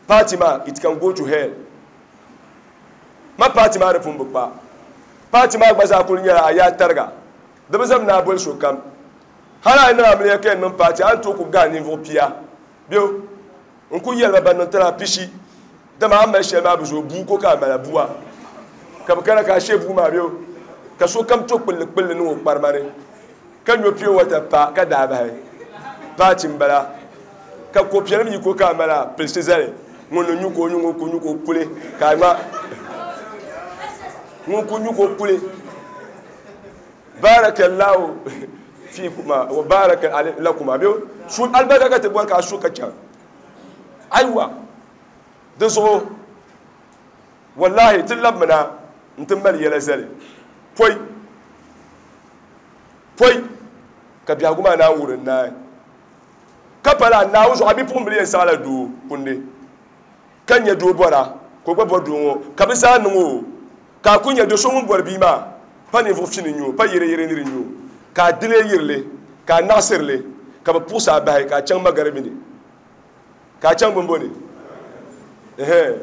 Party maa it can go to hell. Ma party maa di pun bi kpa. Party maa gba zaa kuli nyɛla a yaa tariga. Di bi zami ni a boli sokam. Hali a yi niŋ amiliya ka yɛn niŋ party a ni tooi ku gahi ninvuɣ pia bɛ n ku yɛli ba ban niŋ tiri a pishi dama a ni mali shɛli maa bi zooi bua ko ka a mali bua ka bi kana ka a she bua maa bɛ ka sokam to kpulli kpulli niŋ o kparima ni. Ka nyo pure water pa ka daa bahi paati m-bala, ka ko piɛlim yi ko ka a mali a pilisi zali, ŋun ni nyu ka o nyu, ŋun ku nyu ka o kuli, ka a ŋma ŋun ku nyu ka o kuli. Barakallahu fikuma wa baraka lakuma. Bɛ su alibarika ka ti bɔri ka a su ka chaŋ. Aiwa, di zuɣu wallahi ti labimina nti mali yɛla zali pɔi. Pɔi ka biɛhigu maa naan wurim naai, ka pala a Naawuni zuɣu, a bipuɣimbila yɛn saɣila doo kundi, ka nya doo bɔra, ka o gba bɔri doo ŋɔ, ka bɛ zaa niŋ o, ka a ku nya do so ŋun bɔri bia maa, pa ninvuɣ fini n-nyɛ o, pa yɛreyɛre nir n-nyɛ o, ka a di li yiri li, ka a naɣisiri li, ka bɛ puɣis a bahi, ka a chaŋ magaribi ni, ka a chaŋ bimbo ni. Ɛhɛn.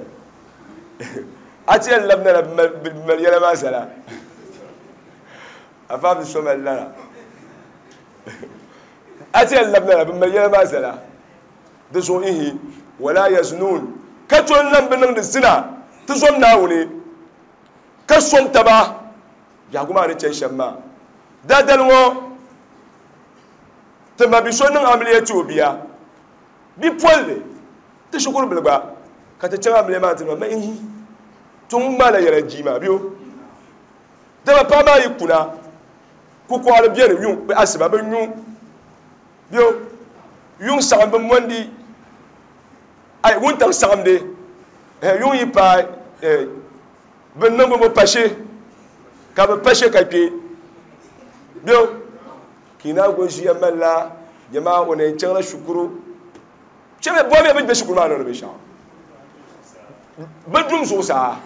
A ti yɛn labina la bɛ mali yɛla maa zala. Afa bi so mali lala. A ti yɛn labina la, bɛ mali yɛla maa zala. Di zuɣu ihi, wala yaznun, ka to n-lan bi niŋdi zina ti zom Naawuni, ka sɔŋ taba biɛhigu maa ni chani shɛm maa. Daadali ŋɔ, ti ma bi so niŋ amiliya ti o bia, bi polli, ti shikuru bili gba, ka ti chaŋ amiliya maa ti niŋ ma ihi, ti ŋun ŋmaala yɛla jii maa bɛ o. Dama paɣa maa yi kuna, kukɔɣili beni yuŋ bɛ asiba bɛ nyu bɛ yuŋ saɣim bɛ mondi, ai wuntaŋ saɣimdi, eh, yuŋ yi paai, eh, bɛ niŋ bɛ mo pashe, ka bɛ pashe ka kpe bɛ ka yi naan go ʒiya malila jama o na yɛn chaŋla shikuru. Chɛ bɛ bɔmiya bɛ ni be shikuru maa niŋdi binshɛɣu. Bɛ dum zuɣusaa.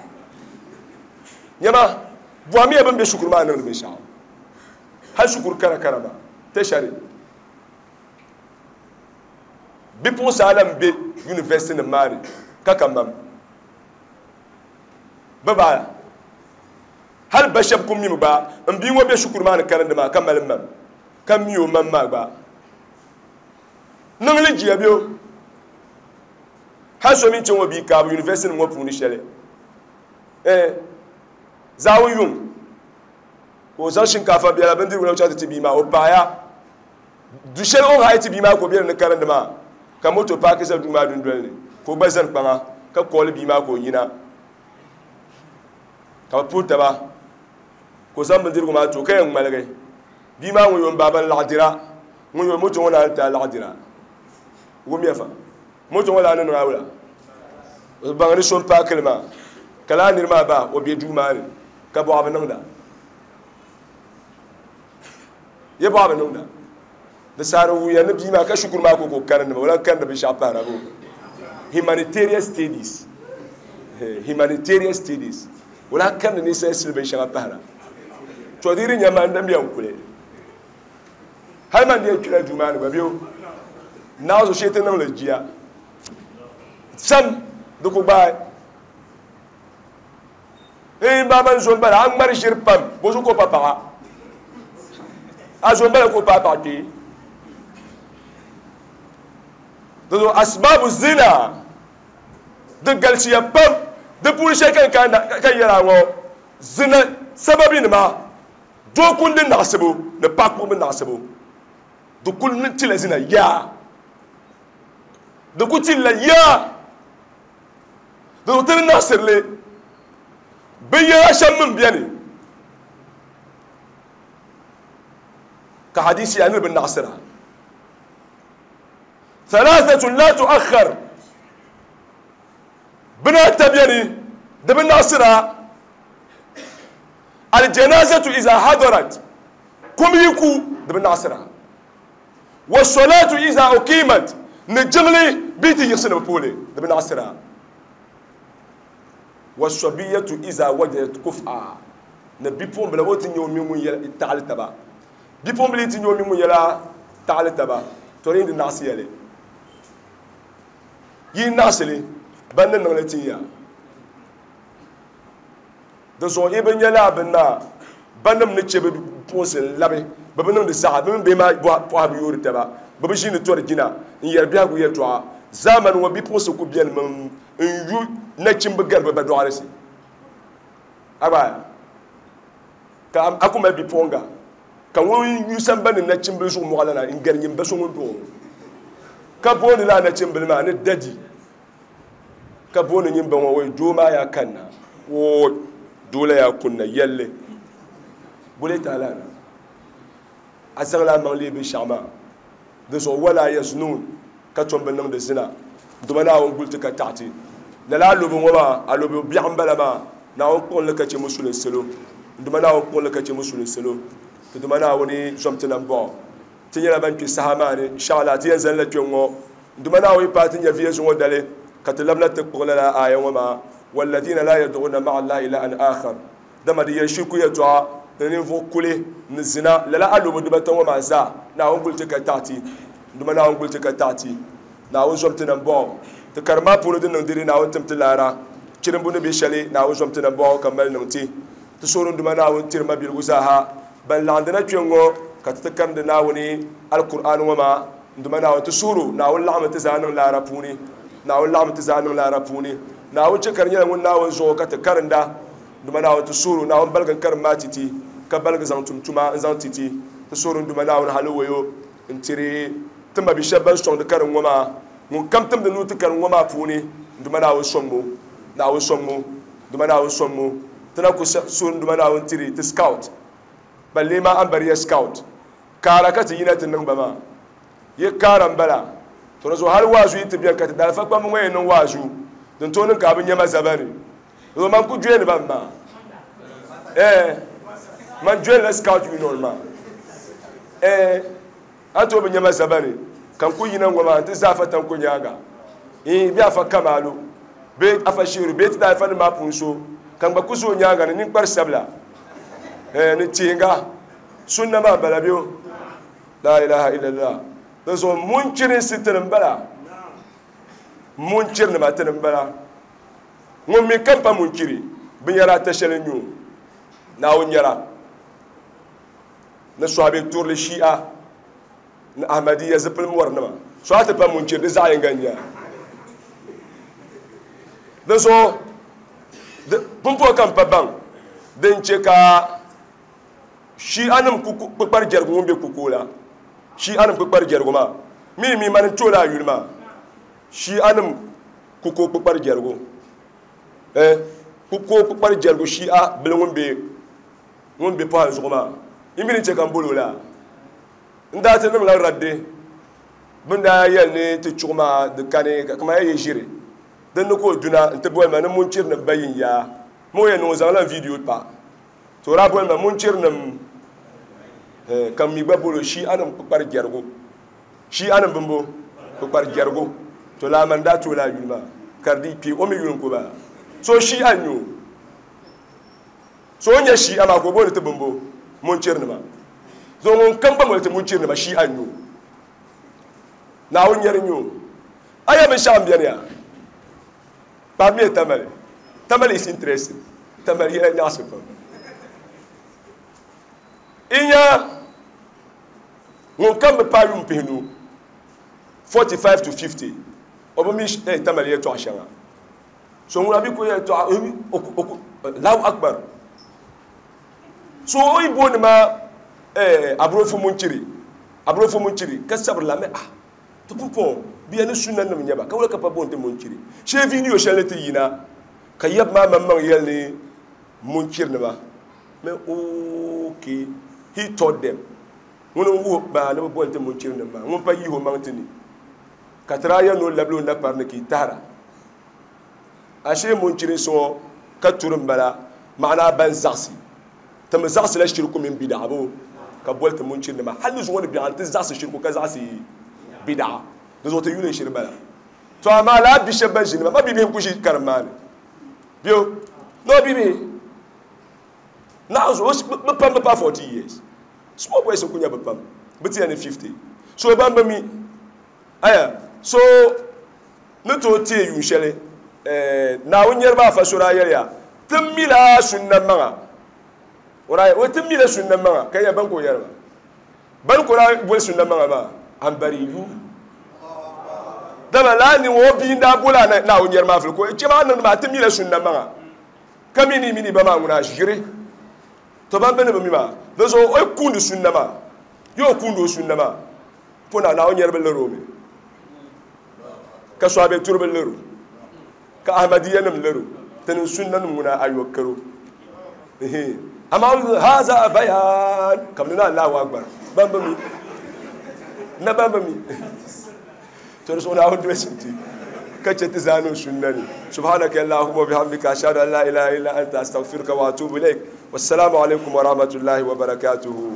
Nyama, bɔhimiya bɛ ni be shikuru maa niŋdi binshɛɣu. Hali shikuru karakara maa, tertiary, bipuɣinsi ala m-be university nim maa ni ka ka mam. Bɛ baaya. Hali ba shɛba ku mimi gba m bia ŋɔ be shikuru maa ni karindi maa ka mali mam, ka mi o mam maa gba. Niŋ li jia bɛ o. Hali so mi chaŋ o bia kaabu university nim ŋɔ puuni shɛli. Eh, zaawun yuŋ ka o zaŋ shinkaafa biɛla bindirigu na chaŋ ti ti bia maa, o paaya du shɛli o ni hayi ti bia maa ka o be dinni karindi maa, ka moto paaki za duu maa dundoli ni ka o gba zani kpaŋa ka kooli bia maa ka o yina, ka bɛ puhi taba ka o zaŋ bindirigu maa ti o ka yɛn ŋmaligi bia maa ŋun yo m baaba n-laɣ dira, ŋun yo moto ŋɔ naan ti a laɣ dira. Wumya fa, moto ŋɔ laa ni niŋ a wula? O baŋ ni so m-paaki li maa, ka laa niri maa ba o be duu maa ni ka bɔɣa bi niŋda. Ya bɔɣa bi niŋda. Di saha di wuhiya ni bia maa ka shikuru maa ka o ka o karindi maa, o lahi karindi binshɛɣu pahira boo? Humanitarian studies. Humanitarian studies. O lahi karindi ninsal sili binshɛŋa pahira. To di yi di nya ma n dan bɛ n kuli. Hali man di yɛn kpela duu maa ni gba bɛ o naɣ zo shee ti niŋ li jia. Sam di ku gbaai. N ba man zo m-bala, a ŋmari ʒiri pam, bɔzuɣu ka o pa paɣa? A zo m-bala ka o paai paɣa kpee. Dinzuɣu asbaabu zina di galisiya pam, di puuni shɛli ka n yɛri a ŋɔ, zina sababinima, doo kundi naɣisibu ni paɣa kpuɣibu naɣisibu, di kuli tila zina yaa. Di ku tilla yaa. Dinzuɣu ti ni naɣisiri li binyɛra shɛm mi m-beni ka hadisi yaa ni bi naɣisira. Thalathatun la tu'akhkhar, bini ata beni di bi naɣisira. Aljanazatu iza hadarat, kum yi ku di bi naɣisira. Wassalatu iza uqimat, ni jiŋli bɛ yi ti yiɣisi ni bɛ puhi li, di bi naɣisira. Wassabiyatu iza wajadat kuf'a, ni bipuɣimbila o ti nya o mini ŋun yɛla taɣili taba. Bipuɣimbila yi ti nya o mini ŋun yɛla taɣili taba, tɔ di yi di naɣisiya li. Yi naɣisi li, ban ni niŋ li tin ya. Di zuɣu yi bi nya lala bini maa, banim ni chɛ bɛ bipuɣinsi n-labi, bɛ bi niŋdi zaɣa, bɛ mini bihi maa pɔha bi yoori taba, bɛ bi ʒiindi tɔri jina n-yɛri biɛhigu yɛltɔɣa. Zaamani ŋɔ bipuɣinsi kul benimi n-yu nachimba gari bɛ ba dɔɣirisi. A gba ka a ku mali bipuɣiŋga ka ŋun yu sambani ni nachimbili zuɣu mɔɣilana n-gari nyin ba so ŋun dɔɣi o, ka booni lala nachimbili maa ni dadi. Ka booni nyin ba ŋɔ wai doo maa yaa kanna woo doo la yaa kunna yɛlli bole taala na a zaŋla a maŋ leei binshɛɣu maa di zuɣu wala yaznun ka tom bi niŋdi zina dama Naawuni guli ti ka taɣi ti lala alobo ŋɔ maa alobo biɛɣu m-bala maa Naawuni kpuɣin li ka chɛ musulin salo dama Naawuni kpuɣin li ka chɛ musulin salo ti dama Naawuni zom ti nambɔɣu ti nyɛla ban kpe saha maa ni inshallah ti yɛn zani la kpe ŋ-ŋɔ Duma Naawuni paai ti nyɛviya zuŋɔ dali, ka ti labina ti kpuɣi lala aaya ŋɔ maa, Walladina laa yad'una ma'a Allahi ilahan aakhar, dama di yɛli shirku yɛltɔɣa ni ninvuɣ kuli ni zina, lala alobo dibata ŋɔ maa zaa, Naawuni guli ti ka taɣi ti. Duma Naawuni guli ti ka taɣi ti. Naawuni zom ti nambɔɣu. Ti karim maa puuni din niŋ diri Naawuni tim ti laara. Chirimbu ni be shɛli, Naawuni zom ti nambɔɣu ka mali niŋ ti. Ti suhuri Duuma Naawuni tiri mabiligu zaaha ban laɣindi na kpe ŋ-ŋɔ ka ti ti karindi Naawuni Alkur'aani ŋɔ maa. Duuma Naawuni, ti suhiri o, Naawuni laɣimmi ti zaa niŋ laara puuni. Naawuni laɣimmi ti zaa niŋ laara puuni. Naawuni chɛ ka di nyɛla ŋun Naawuni zuɣu ka ti karinda. Duuma Naawuni, ti suhiri o, Naawuni baligi n-karim maa ti ti, ka baligi zaŋ tum tuma n-zaŋ ti ti. Ti suhiri Duuma Naawuni haliwayo n-tiri ti mabi shɛba ban sɔŋdi karim ŋɔ maa. Ŋun kam timdi nuu ti karim ŋɔ maa puuni, Duuma Naawuni sɔŋmi o. Naawuni sɔŋmi o. Duuma Naawuni sɔŋmi o. Ti na ku suhiri Duuma Naawuni tiri ti scout ban lee maa Ambariya scout kaara ka ti yina ti niŋ ba maa. Yi kaara m-bala. To di zuɣu hali waazu yi ti beni ka ti daalifa kpamba ŋɔ yɛn niŋ waazu, din tooi niŋ ka a bi nya ma zabani. Di zuɣu man ku joini ba m-maa. Ɛɛh, man joinila scout union maa. Ɛɛh, a tooi bi nya ma zabani ka n ku yina ŋɔ maa nti za afa tanko nyaaŋa. Iin, bee afa Kamalu, bee afa Sheeru, bee ti daalifa nim maa puuni so. Ka n gba ku zo o nyaaŋa ni ninkpari sabila, eh, ni tihinga. Sunna maa bala bɛ o. La ilaha illallah. Di zuɣu munchirinsi tini m-bala. Munchirinima tini m-bala. Ŋun mi kam pa munchiri, binyɛra ata shɛli n-nyɛ o. Naawuni nyɛla ni sɔhibe turili Shia ni Ahmadiyya zipili mɔrinima. So a ti pa munchiri di zaɣ yinga n-nyɛ a. Di zuɣu pumpɔŋ ka m pa baŋ din chɛ ka Shianim kpukpari jɛrigu ŋun be kukoo la. Shianim kpukpari jɛrigu maa mi mi mani n-ti o la a yuli maa. Shianim kukoo kpukpari jɛrigu. Eh, kukoo kpukpari jɛrigu Shia bili ŋun be ŋun be pɔhim zuɣu maa. Yi mi ni chɛ ka m boli o la? N daa ti niŋla raddi bɛ ni daa yɛli ni ti chuɣu maa di kani ka kaman ya yi ʒiri din ni ka o duna nti boli ma ni munchirinim ba yin yaa. Ma o yɛn niŋ o zaŋla n viidiyo pa. To o daa boli ma munchirinim eh, ka m mi gba boli o Shianim kpukpari jɛrigu. Shianim bimbo kpukpari jɛrigu. To laa man daa ti o laa yuli maa ka di dii kpe o mi yuli n-ku ba. So Shia n-nyɛ o. So o ni nyɛ Shia maa ka o booni ti bimbo munchirinima. So ŋun kam gba moli ti munchirinima Shia n-nyɛ o. Naawuni nyɛri n-nyɛ o. A ya binshɛɣu m-beni ya. Kpaami ya Tamale. Tamale is interesting. Tamale yɛla nyaɣisi pam. I nya ŋun kam bi paai yuun pihinu, 45 to 50, o bi mi eh, Tamale yɛltɔɣa shɛŋa. So ŋuna bi ku yɛltɔɣa, Allahu Akbar. So o yi booni ma eh, Aburofu Munchiri, Aburofu Munchiri, ka sabiri la mi ah, ti pumpɔŋɔ bia ni sunna nim nyɛba, ka wula ka pa booni ti Munchiri. Shee viidiyo shɛli ni ti yina ka yab maa maŋmaŋ yɛli ni Munchiri nima mi okay, he taught them. Ŋuni n wuhi ba ni bi booni ti Munchiri nim maa, ŋun pa yihi o maŋ ti ni ka ti daa yɛli ni o labili o napari ni ka yi tahira. Ashee munchirinsi ŋɔ ka turi m-bala, maana ban zaɣisi. Ti mi zaɣisila shiriku mini bidaɣa bo ka boli ti munchirinima. Hal ni zuŋɔ ni biɛɣu ni ti zaɣisi shiriku ka zaɣisi bidaɣa. Di zuɣu ti yuli n-shiri bala. To amaa lala bi shɛba ban ʒi nima ma bibihi n-ku ʒi karim maa ni. Bɛ no bibihi naɣ zuɣu bɛ pam bi paai 40 years. Small boys n-ku nyɛ bɛ pam. Bɛ ti yɛn ni 50. So ban bi mi. Aya, so ni tooi teei yuun shɛli Naawuni niriba afa so daa yɛliya, Ti mila sunna maŋa. O daa yɛli, Ti mila sunna maŋa. Ka yɛli, Bani ka o yɛri maa? Bani ka o daa boli sunna maŋa maa? Ambari yu. Dama lala ni ŋɔ o bia n-daa boli a Naawuni niriba maa fili ka o chɛ maa niŋdi maa, Ti mila sunna maŋa. Ka mi ni mini ba maa ŋuna ʒiri. To ban bɛ ni bi mi maa, di zuɣu o yi kuundi sunna maa, yi o kuundi o sunna maa. Puna Naawuni nyɛri bi liri o mi, ka Sɔhabe turi bi liri o, ka Ahmadiyya nim liri o, tinim sunna nim ŋuna ayɔkaro. Amaa haza bayan ka bi ni Allahu akbar ban bi mi na ban bi mi to di zuɣu Naawuni dolisi ti ka chɛ ti zaa niŋ sunna ni. Subhanaka Allahumma wa bihamdika ashhadu an la ilaha illa anta astaghfiruka wa atubu ilaik. Wassalamu alaikum wa rahmatullahi wa barakatuhu.